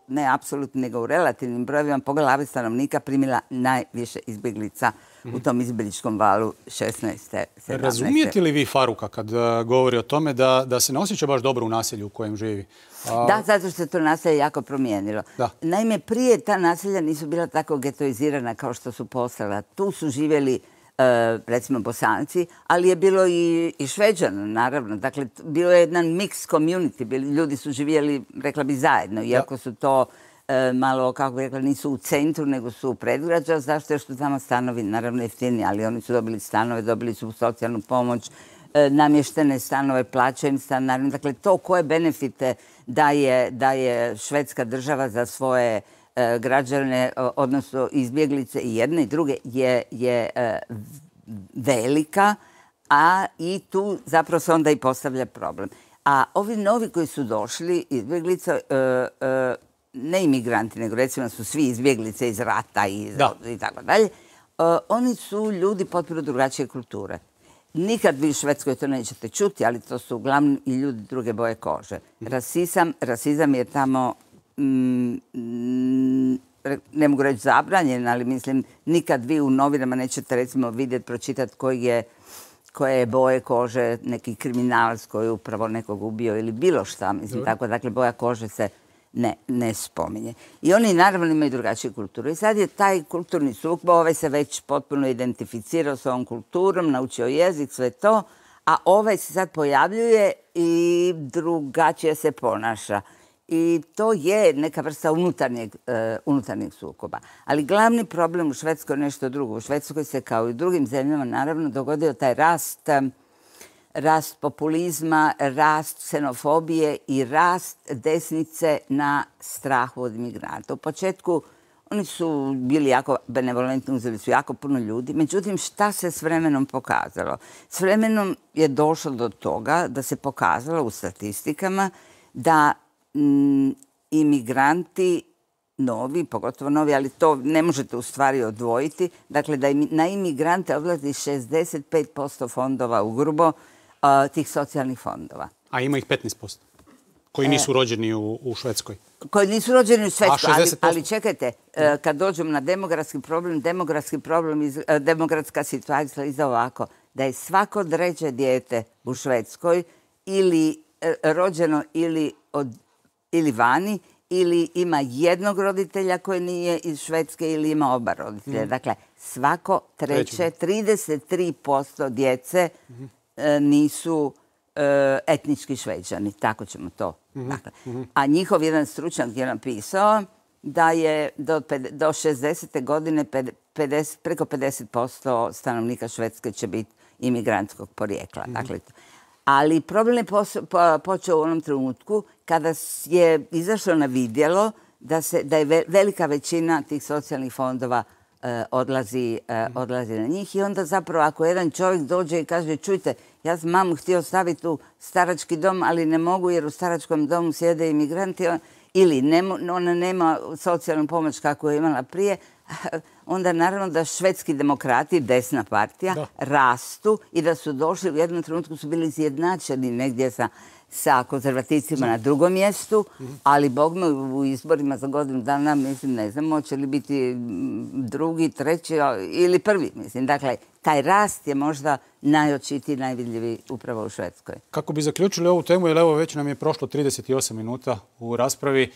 ne apsolutno, nego u relativnim brojevima po glavi stanovnika primila najviše izbjeglica u tom izbjegličkom valu 16. 17. Razumijete li vi Faruka kad govori o tome da se ne osjeća baš dobro u naselju u kojem živi? Da, zato što se to naselje jako promijenilo. Naime, prije ta naselja nisu bila tako getoizirana kao što su postala. Tu su živjeli recimo Bosanci, ali je bilo i Šveđana, naravno. Dakle, bilo je jedan mix community. Ljudi su živjeli, rekla bi, zajedno, iako su to malo, kako bi rekla, nisu u centru, nego su u predgrađa. Zašto? Jer su tamo stanovi, naravno, jeftini, ali oni su dobili stanove, dobili su socijalnu pomoć, namještene stanove, plaćeni stan. Dakle, to koje benefite daje Švedska država za svoje građane, odnosno izbjeglice i jedne i druge, je velika, a i tu zapravo se onda i postavlja problem. A ovi novi koji su došli, izbjeglice, ne imigranti, nego recimo su svi izbjeglice iz rata i tako dalje, oni su ljudi potpuno drugačije kulture. Nikad vi u Švedskoj to nećete čuti, ali to su uglavnom i ljudi druge boje kože. Rasizam je tamo, ne mogu reći zabranjen, ali mislim, nikad vi u novinama nećete recimo vidjeti, pročitati koje je boje kože neki kriminalac koji je upravo nekog ubio ili bilo šta. Mislim, tako, dakle, boja kože se ne spominje. I oni naravno imaju drugačiju kulturu. I sad je taj kulturni sukob, ovaj se već potpuno identificirao s ovom kulturom, naučio jezik, sve to, a ovaj se sad pojavljuje i drugačije se ponaša. I to je neka vrsta unutarnjeg sukoba. Ali glavni problem u Švedskoj je nešto drugo. U Švedskoj se kao i u drugim zemljama naravno dogodio taj rast populizma, rast ksenofobije i rast desnice na strahu od imigranta. U početku oni su bili jako benevolentni, uzeli su jako puno ljudi. Međutim, šta se s vremenom pokazalo? S vremenom je došlo do toga da se pokazalo u statistikama da imigranti novi, pogotovo novi, ali to ne možete u stvari odvojiti, dakle da na imigrante odlazi 65% fondova ugrubo tih socijalnih fondova. A ima ih 15%? Koji nisu rođeni u Švedskoj? Koji nisu rođeni u Švedskoj, ali čekajte, kad dođemo na demografska situacija izgleda ovako, da je svako treće dijete u Švedskoj ili rođeno ili vani, ili ima jednog roditelja koji nije iz Švedske ili ima oba roditelja. Dakle, svako treće, 33% djece nisu etnički Šveđani, tako ćemo to. Dakle, a njihov jedan stručnjak je napisao da je do 60. godine preko 50% stanovnika Švedske će biti imigrantskog porijekla. Dakle, ali problem je počeo u onom trenutku kada je izašlo na vidjelo da je velika većina tih socijalnih fondova odlazi na njih. I onda zapravo ako jedan čovjek dođe i kaže čujte, ja sam mamu htio staviti u starački dom, ali ne mogu jer u staračkom domu sjede imigranti ili ona nema socijalnu pomoć kako je imala prije, onda naravno da švedski demokrati, desna partija, rastu i da su došli, u jednom trenutku su bili izjednačeni negdje sa konzervativcima na drugom mjestu, ali bogme u izborima za godinu dana, mislim, ne znam, hoće li biti drugi, treći ili prvi, mislim. Dakle, taj rast je možda najočitiji, najvidljiviji upravo u Švedskoj. Kako bi zaključili ovu temu, jer evo već nam je prošlo 38 minuta u raspravi.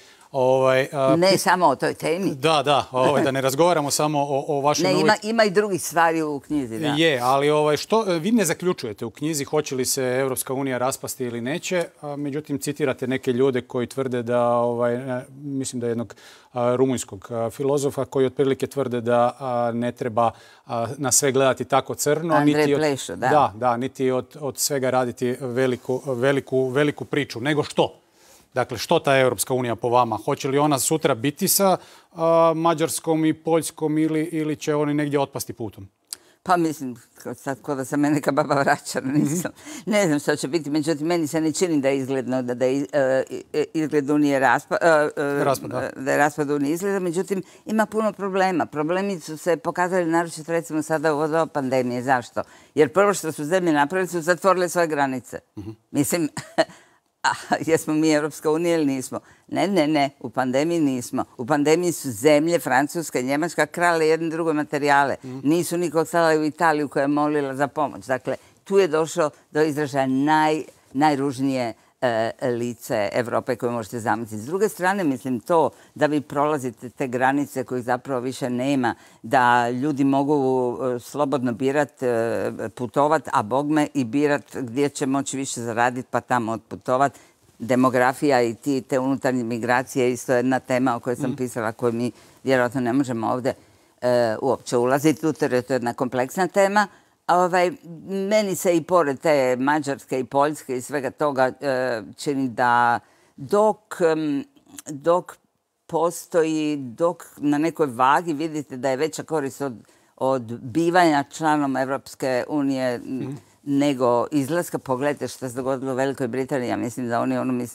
Ne samo o toj temi. Da, da ne razgovaramo samo o vašoj novoj... Ne, ima i drugih stvari u knjizi, da. Je, ali što vi ne zaključujete u knjizi hoće li se Europska unija raspasti ili neće, međutim citirate neke ljude koji tvrde da, mislim da jednog rumunjskog filozofa koji otprilike tvrde da ne treba na sve gledati tako crno. Andrej Plešo, da. Da, niti od svega raditi veliku priču. Nego što? Dakle, što ta Europska unija po vama? Hoće li ona sutra biti sa Mađarskom i Poljskom ili će oni negdje otpasti putom? Pa mislim, sad ko da se me neka baba vraća, ne znam što će biti. Međutim, meni se ne čini da je izgledno da je izgled Unije da je raspad Unije izgleda. Međutim, ima puno problema. Problemi su se pokazali naročito recimo sada u doba pandemije. Zašto? Jer prvo što su zemlje napravili su zatvorile svoje granice. Mislim... jesmo mi Europska unija ili nismo? Ne, u pandemiji nismo. U pandemiji su zemlje, Francuska i Njemačka, krale jedne druge materijale. Nisu nikog slali u Italiju koja je molila za pomoć. Dakle, tu je došlo do izražaja najružnije lice Evrope koje možete zamisliti. S druge strane, mislim to da vi prolazite te granice kojih zapravo više nema, da ljudi mogu slobodno birati, putovati, a bogme i birati gdje će moći više zaraditi pa tamo otputovati. Demografija i te unutarnje migracije je isto jedna tema o kojoj sam pisala, koju mi vjerojatno ne možemo ovdje uopće ulaziti u, to je jedna kompleksna tema. Meni se i pored te Mađarske i Poljske i svega toga čini da dok postoji, dok na nekoj vagi vidite da je veća korist od bivanja članom Evropske unije nego izlaska. Pogledajte što se dogodilo u Velikoj Britaniji. Ja mislim da oni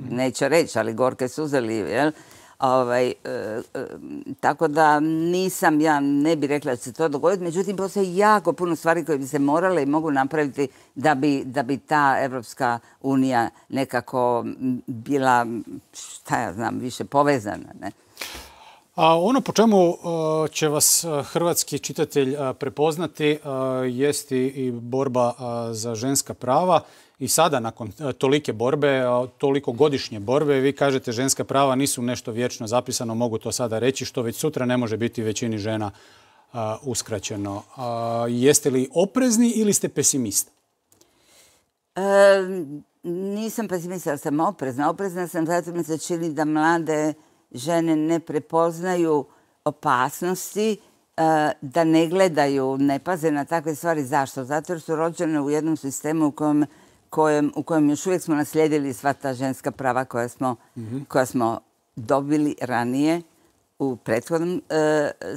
neće reći, ali gorke suze liju, jel? Tako da ja ne bih rekla da će se to dogoditi. Međutim, postoje jako puno stvari koje bi se morale i mogu napraviti da bi ta Evropska unija nekako bila, šta ja znam, više povezana, ne? Ono po čemu će vas hrvatski čitatelj prepoznati jest i borba za ženska prava. I sada, nakon tolike borbe, toliko godišnje borbe, vi kažete ženska prava nisu nešto vječno zapisano, mogu to sada reći, što već sutra ne može biti većini žena uskraćeno. Jeste li oprezni ili ste pesimista? Nisam pesimista, ali sam oprezna. Oprezna sam zato mi se čini da mlade žene ne prepoznaju opasnosti, da ne gledaju, ne paze na takve stvari. Zašto? Zato jer su rođene u jednom sistemu u kojem još uvijek smo naslijedili sva ta ženska prava koja smo dobili ranije u prethodnom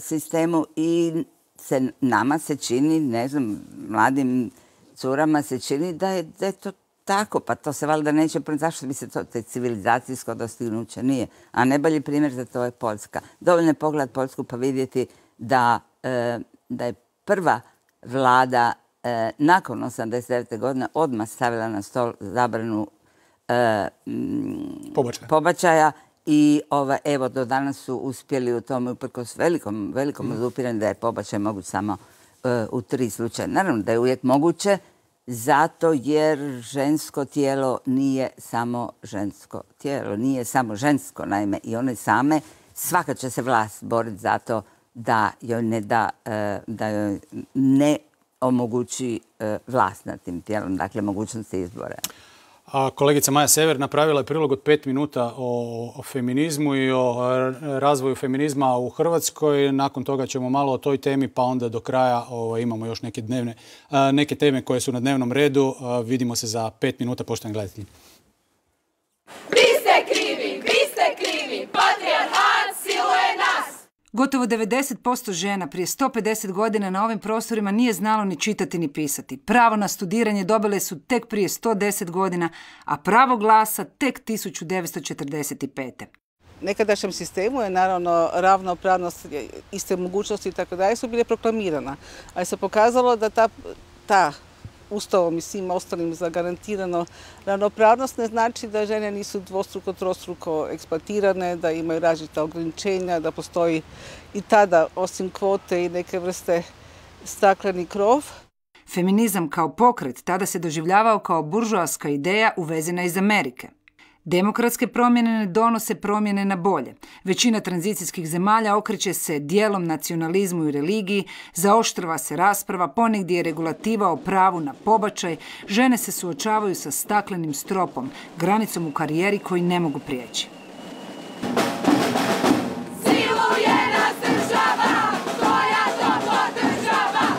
sistemu i nama se čini, ne znam, mladim curama se čini da je to tako, pa to se valjda neće, zašto bi se to civilizacijsko dostignuće nije. A najbolji primjer za to je Poljska. Dovoljno je pogledati Poljsku pa vidjeti da je prva vlada nakon 89. godine odmah stavila na stol zabranu pobačaja i evo do danas su uspjeli u tome uprkos velikom odupiranju da je pobačaj moguć samo u 3 slučaja. Naravno da je uvijek moguće zato jer žensko tijelo nije samo žensko tijelo, nije samo žensko naime i one same, svaka će se vlast boriti za to da joj ne omogući vlast nad tim tijelom, dakle mogućnosti izbora. Kolegica Maja Sever napravila je prilog od 5 minuta o feminizmu i o razvoju feminizma u Hrvatskoj. Nakon toga ćemo malo o toj temi, pa onda do kraja imamo još neke teme koje su na dnevnom redu. Vidimo se za 5 minuta, poštovani gledatelji. Vi ste krivi, patrijarhat siluje nas! Gotovo 90% žena prije 150 godina na ovim prostorima nije znalo ni čitati ni pisati. Pravo na studiranje dobile su tek prije 110 godina, a pravo glasa tek 1945. Nekadašnjem sistemu je naravno ravnopravnost, iste mogućnosti i tako dalje su bile proklamirana. Ali se pokazalo da ta Ustavom i svim ostalim zagarantirano ravnopravnost ne znači da žene nisu dvostruko, trostruko eksploatirane, da imaju različita ograničenja, da postoji i tada, osim kvote i neke vrste stakleni krov. Feminizam kao pokret tada se doživljavao kao buržoaska ideja uvezena iz Amerike. Demokratske promjene ne donose promjene na bolje. Većina tranzicijskih zemalja okreće se dijelom nacionalizmu i religiji, zaoštrava se rasprava, ponegdje je regulativa o pravu na pobačaj, žene se suočavaju sa staklenim stropom, granicom u karijeri koji ne mogu prijeći.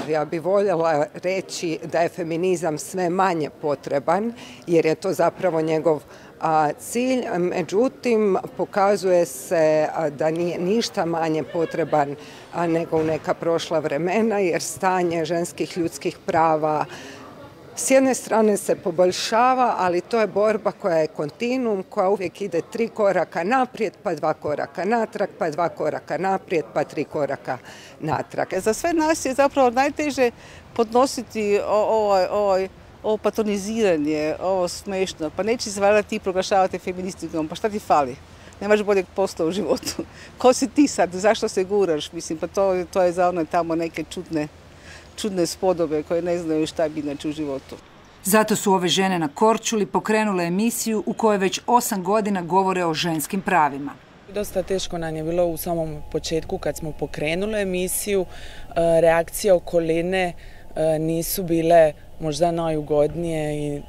Ja bih voljela reći da je feminizam sve manje potreban, jer je to zapravo njegov cilj. Međutim, pokazuje se da nije ništa manje potreban nego u neka prošla vremena, jer stanje ženskih ljudskih prava s jedne strane se poboljšava, ali to je borba koja je kontinuum, koja uvijek ide 3 koraka naprijed, pa 2 koraka natrag, pa 2 koraka naprijed, pa 3 koraka natrag. Za sve nas je zapravo najteže podnositi ovo patroniziranje, ovo smešno. Pa neće se valjda ti proglašavati feministikom, pa šta ti fali? Nemaš boljeg posla u životu. Ko si ti sad? Zašto se guraš? Mislim, pa to je za one tamo neke čudne spodobe koje ne znaju šta bi inače u životu. Zato su ove žene na Korčuli pokrenule emisiju u kojoj već 8 godina govore o ženskim pravima. Dosta teško nam je bilo u samom početku kad smo pokrenuli emisiju. Reakcije okoline nisu bile možda najugodnije i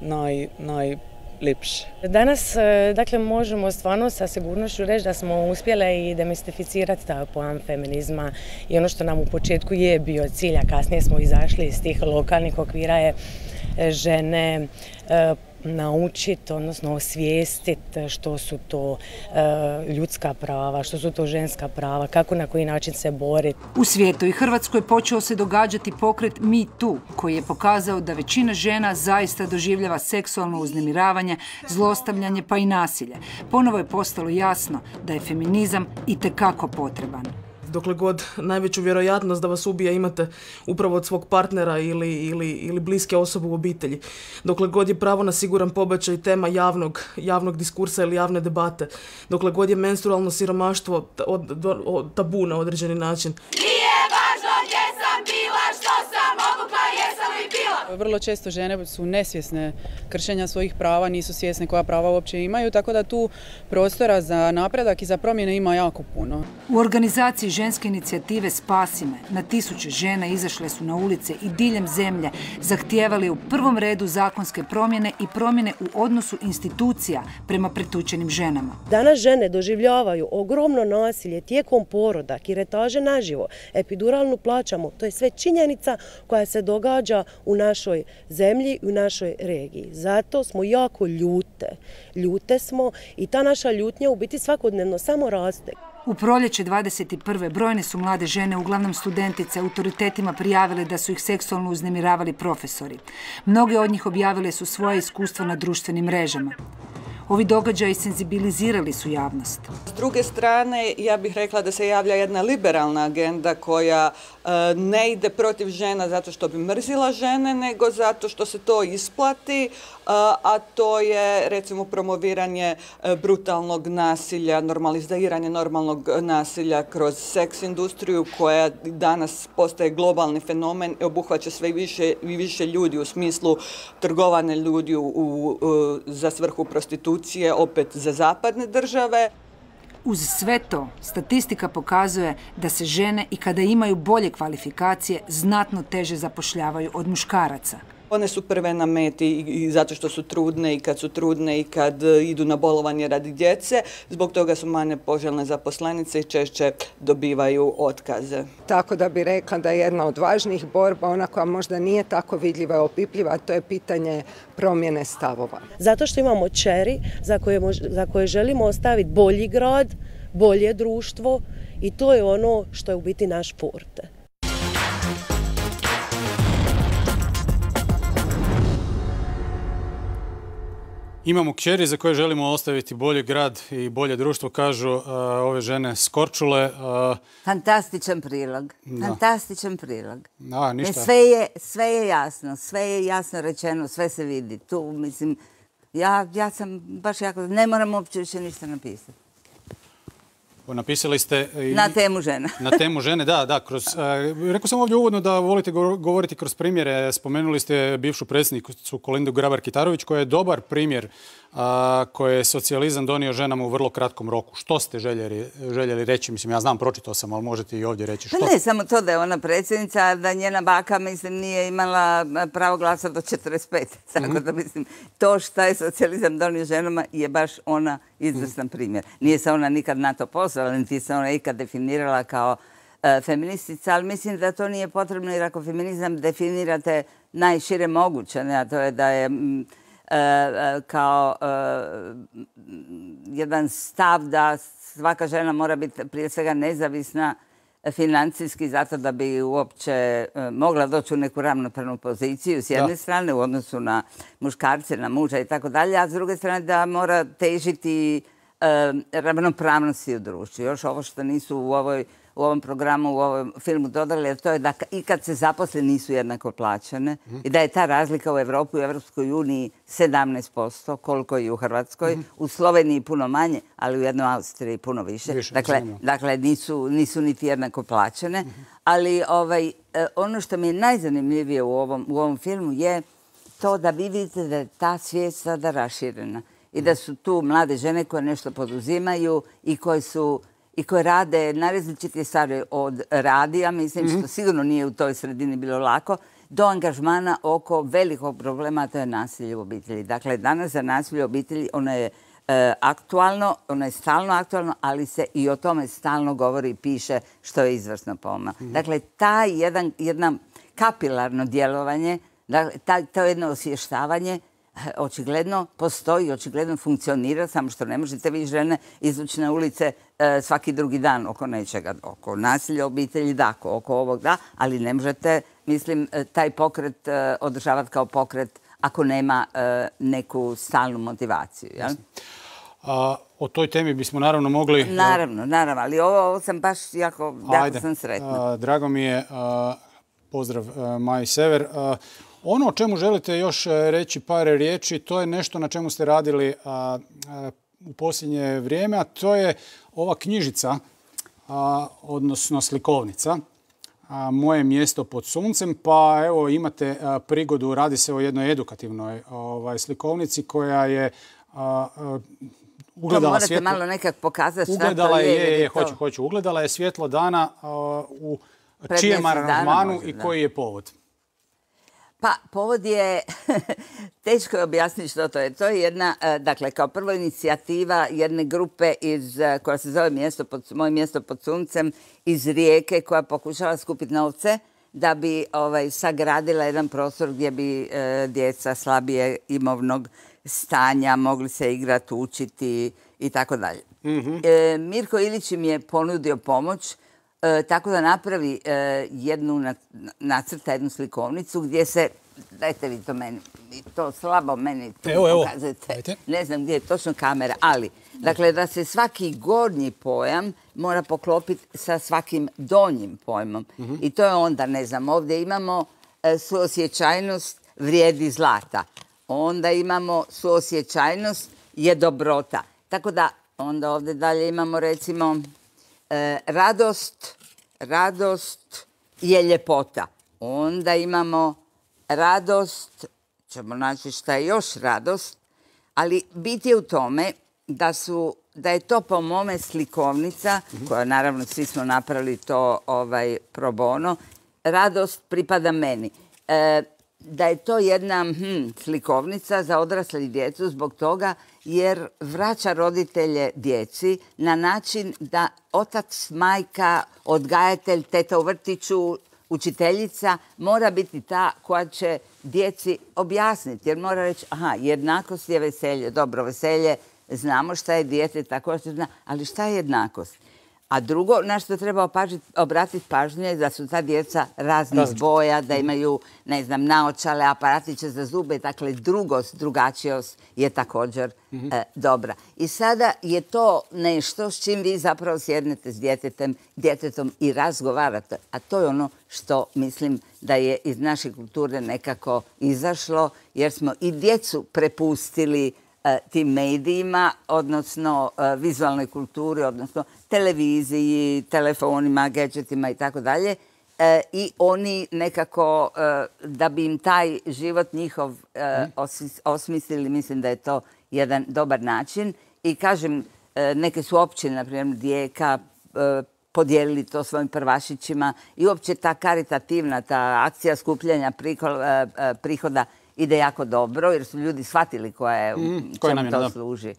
najljepše. Danas dakle, možemo stvarno sa sigurnošću reći da smo uspjele i demistificirati taj pojam feminizma i ono što nam u početku je bio cilj, a kasnije smo izašli iz tih lokalnih okvira je žene naučiti, odnosno osvijestiti što su to ljudska prava, što su to ženska prava, kako na koji način se boriti. U svijetu i Hrvatskoj počeo se događati pokret Me Too, koji je pokazao da većina žena zaista doživljava seksualno uznemiravanje, zlostavljanje pa i nasilje. Ponovo je postalo jasno da je feminizam itekako potreban. Dokle god najveću vjerojatnost da vas ubija imate upravo od svog partnera ili bliske osobe u obitelji. Dokle god je pravo na siguran pobačaj tema javnog diskursa ili javne debate. Dokle god je menstrualno siromaštvo tabu na određeni način. Nije važno gdje sam bila, što sam obukla, jesam li bila. Vrlo često žene su nesvjesne kršenja svojih prava, nisu svjesne koja prava uopće imaju, tako da tu prostora za napredak i za promjene ima jako puno. U organizaciji ženske inicijative Spasi me na tisuće žena izašle su na ulice i diljem zemlje, zahtijevali u prvom redu zakonske promjene i promjene u odnosu institucija prema pretučenim ženama. Danas žene doživljavaju ogromno nasilje tijekom poroda, kiretaže naživo, epiduralnu plaćamo. To je sve činjenica koja se događa u našoj zemlji i u našoj regiji. Zato smo jako ljute. Ljute smo i ta naša ljutnja u biti svakodnevno samo raste. U proljeće 21. brojne su mlade žene, uglavnom studentice, autoritetima prijavile da su ih seksualno uznemiravali profesori. Mnoge od njih objavile su svoje iskustva na društvenim mrežama. Ovi događaji senzibilizirali su javnost. S druge strane, ja bih rekla da se javlja jedna liberalna agenda koja ne ide protiv žena zato što bi mrzila žene, nego zato što se to isplati, a to je recimo promoviranje brutalnog nasilja, normaliziranje normalnog nasilja kroz seks industriju koja danas postaje globalni fenomen i obuhvaća sve više i više ljudi u smislu trgovanja ljudi za svrhu prostitucije, opet za zapadne države. Uz sve to, statistika pokazuje da se žene i kada imaju bolje kvalifikacije znatno teže zapošljavaju od muškaraca. One su prve na meti i zato što su trudne i kad su trudne i kad idu na bolovanje radi djece. Zbog toga su manje poželjne zaposlenice i češće dobivaju otkaze. Tako da bi rekla da je jedna od važnijih borba, ona koja možda nije tako vidljiva i opipljiva, a to je pitanje promjene stavova. Zato što imamo kćeri za koje želimo ostaviti bolji grad, bolje društvo i to je ono što je u biti naš forte. Imamo kćeri za koje želimo ostaviti bolji grad i bolje društvo, kažu ove žene s Korčule. Fantastičan prilog. Fantastičan prilog. Ništa. Sve je jasno, sve je jasno rečeno, sve se vidi. Tu, mislim, ja sam baš jako... Ne moram uopće više ništa napisati. Napisali ste... Na temu žena. Na temu žene, da. Rekao sam ovdje uvodno da volite govoriti kroz primjere. Spomenuli ste bivšu predsjednicu Kolindu Grabar-Kitarović, koja je dobar primjer koje je socijalizam donio ženama u vrlo kratkom roku. Što ste željeli reći? Mislim, ja znam, pročitao sam, ali možete i ovdje reći. Pa ne, samo to da je ona predsjednica, da njena baka, mislim, nije imala pravo glasa do 45. Tako da, mislim, to što je socijalizam donio ženama je baš ona izvrstan primjer. Nije se ona nikad na to pozvala, niti se ona ikad definirala kao feministica, ali mislim da to nije potrebno, jer ako feminizam definirate najšire moguće, a to je da je kao jedan stav da svaka žena mora biti prije svega nezavisna financijski zato da bi uopće mogla doći u neku ravnopravnu poziciju s jedne strane u odnosu na muškarce, na muža i tako dalje, a s druge strane da mora težiti ravnopravnosti u društvu. Još ovo što nisu u ovom programu, u ovom filmu dodali, a to je da i kad se zaposle nisu jednako plaćene i da je ta razlika u Evropi, u Evropskoj uniji 17%, koliko i u Hrvatskoj, u Sloveniji puno manje, ali u jednoj Austriji puno više. Dakle, nisu niti jednako plaćene. Ali ono što mi je najzanimljivije u ovom filmu je to da vi vidite da je ta svijest sada raširena i da su tu mlade žene koje nešto poduzimaju i koje rade na različite stvari od radija, mislim, što sigurno nije u toj sredini bilo lako, do angažmana oko velikog problema, a to je nasilje u obitelji. Dakle, danas za nasilje u obitelji ono je aktualno, ono je stalno aktualno, ali se i o tome stalno govori i piše, što je izvrsno poma. Dakle, jedno kapilarno djelovanje, to jedno osvještavanje očigledno postoji, očigledno funkcionira, samo što ne možete vi žene izvući na ulice svaki drugi dan oko nečega, oko nasilja obitelji, da, oko ovog, da, ali ne možete, mislim, taj pokret održavati kao pokret ako nema neku stalnu motivaciju. Jel? O toj temi bismo naravno mogli... Naravno, ali ovo sam baš jako sam sretna. Drago mi je, pozdrav Maji Sever. Ono o čemu želite još reći par riječi, to je nešto na čemu ste radili u posljednje vrijeme, a to je ova knjižica, odnosno slikovnica, Moje mjesto pod suncem, pa evo imate prigodu, radi se o jednoj edukativnoj slikovnici koja je ugledala to morate malo nekak pokazati šta to je. Hoću. Ugledala je svjetlo dana u čijem aranžmanu i koji je povod? Pa, povod je, teško je objasniti što to je. To je jedna, dakle, kao prvo inicijativa jedne grupe koja se zove Moje mjesto pod suncem iz Rijeke, koja pokušava skupiti novce da bi sagradila jedan prostor gdje bi djeca slabije imovnog stanja mogli se igrati, učiti i tako dalje. Mirko Ilić mi je ponudio pomoć tako da napravi nacrta jednu slikovnicu gdje se, dajte vi to meni, to slabo meni tu pokazujete, ne znam gdje je točno kamera, ali dakle da se svaki gornji pojam mora poklopiti sa svakim donjim pojmom. I to je onda, ne znam, ovdje imamo suosjećajnost vrijedi zlata, onda imamo suosjećajnost je dobrota. Tako da onda ovdje dalje imamo recimo radost je ljepota. Onda imamo radost, ćemo naći šta je još radost, ali bit je u tome da je to po mome slikovnica, koja naravno svi smo napravili to pro bono, radost pripada meni. Da je to jedna slikovnica za odrasle i djecu zbog toga jer vraća roditelje djeci na način da otac, majka, odgajatelj, teta u vrtiću, učiteljica mora biti ta koja će djeci objasniti. Jer mora reći, jednakost je veselje. Dobro, veselje, znamo šta je dijete, tako što zna, ali šta je jednakost? A drugo, na što treba obratiti pažnju je da su ta djeca raznih boja, da imaju, ne znam, naočale, aparatiće za zube. Dakle, drugačijost je također dobra. I sada je to nešto s čim vi zapravo sjednete s djetetom i razgovarate. A to je ono što mislim da je iz naše kulture nekako izašlo, jer smo i djecu prepustili tim medijima, odnosno vizualnoj kulturi, odnosno televiziji, telefonima, gadgetima i tako dalje. I oni nekako, da bi im taj život njihov osmislili, mislim da je to jedan dobar način. I kažem, neke su općine, na primjer Rijeka, podijelili to svojim prvašićima i uopće ta karitativna, ta akcija skupljanja prihoda ide jako dobro, jer su ljudi shvatili čemu to služi.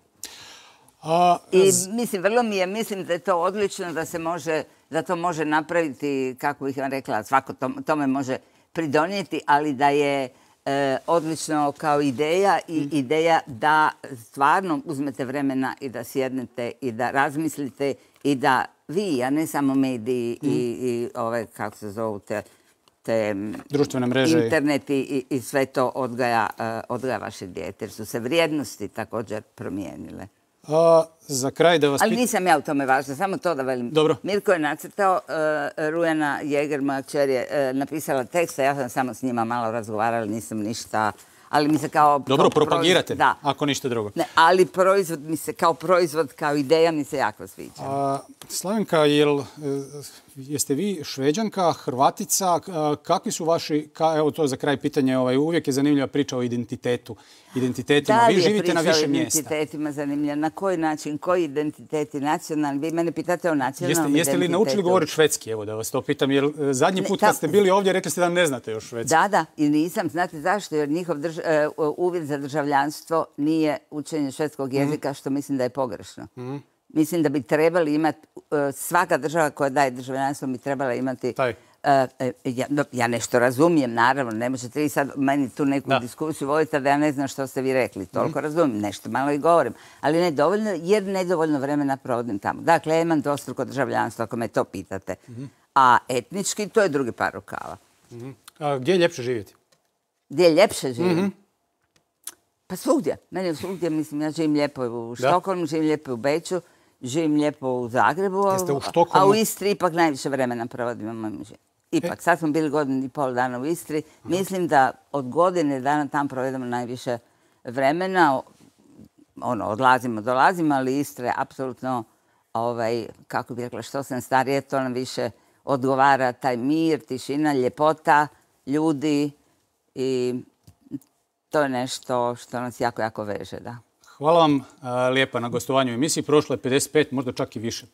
I mislim da je to odlično, da to može napraviti, kako bih vam rekla, svako tome može pridonijeti, ali da je odlično kao ideja i ideja da stvarno uzmete vremena i da sjednete i da razmislite i da vi, a ne samo mediji i ove, kako se zovu, te društvene mreže, internet i sve to odgaja vaše dijete, jer su se vrijednosti također promijenile. Za kraj da vas Ali nisam ja u tome važna, samo to da velim. Dobro. Mirko je nacrtao, Rujana Jeger, moja kćer, je napisala tekst, a ja sam samo s njima malo razgovarala, nisam ništa, ali mi se kao... Dobro, propagirate, ako ništa drugo. Ne, ali proizvod mi se, kao proizvod, kao ideja mi se jako sviđa. Slavenka, jeste vi Šveđanka, Hrvatica, kakvi su vaši, evo to za kraj pitanje, uvijek je zanimljiva priča o identitetima. Vi živite na više mjesta. Da, je priča o identitetima zanimljiva. Na koji način, koji identiteti, nacionalni? Vi mene pitate o nacionalnom identitetu. Jeste li naučili govoriti švedski? Evo da vas to pitam, jer zadnji put kad ste bili ovdje rekli ste da ne znate još švedski. Da, i nisam. Znate zašto? Jer njihov uvjet za državljanstvo nije učenje švedskog jezika, što mislim da je pogrešno. Mislim da bi trebali imati, svaka država koja daje državljanstvo bi trebala imati Ja nešto razumijem, naravno, ne možete vi sad meni tu neku diskusiju voditi, da ja ne znam što ste vi rekli, toliko razumijem, nešto malo i govorim, ali ne dovoljno, jer nedovoljno vremena provodim tamo. Dakle, ja imam dvostruko državljanstvo, ako me to pitate, a etnički to je drugi par rukava. A gdje je ljepše živjeti? Gdje je ljepše živjeti? Pa svugdje. Meni je svugdje, mislim, ja živim lijepo u Štokholmu, živim lijepo u Beču, živim lijepo u Zagrebu, a u Istri ipak najviše vremena provodim u mojom životu. Ipak, sad smo bili 1,5 dana u Istri. Mislim da od godine dana tam provedemo najviše vremena. Odlazimo, dolazimo, ali Istra je apsolutno, kako bih rekla, što sam starije, to nam više odgovara taj mir, tišina, ljepota, ljudi i to je nešto što nas jako, jako veže, da. Hvala vam lijepa na gostovanju u emisiji. Prošlo je 55, možda čak i više.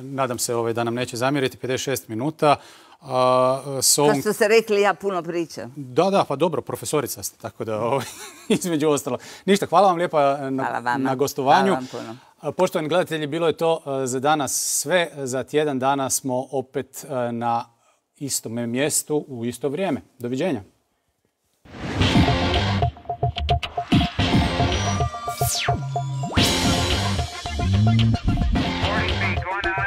Nadam se da nam neće zamjeriti, 56 minuta. Kao što ste rekli, ja puno pričam. Da, pa dobro, profesorica ste, tako da između ostalo. Ništa, hvala vam lijepa na gostovanju. Hvala vam puno. Poštovani gledatelji, bilo je to za danas sve. Za tjedan dana smo opet na istom mjestu u isto vrijeme. Doviđenja. Going out.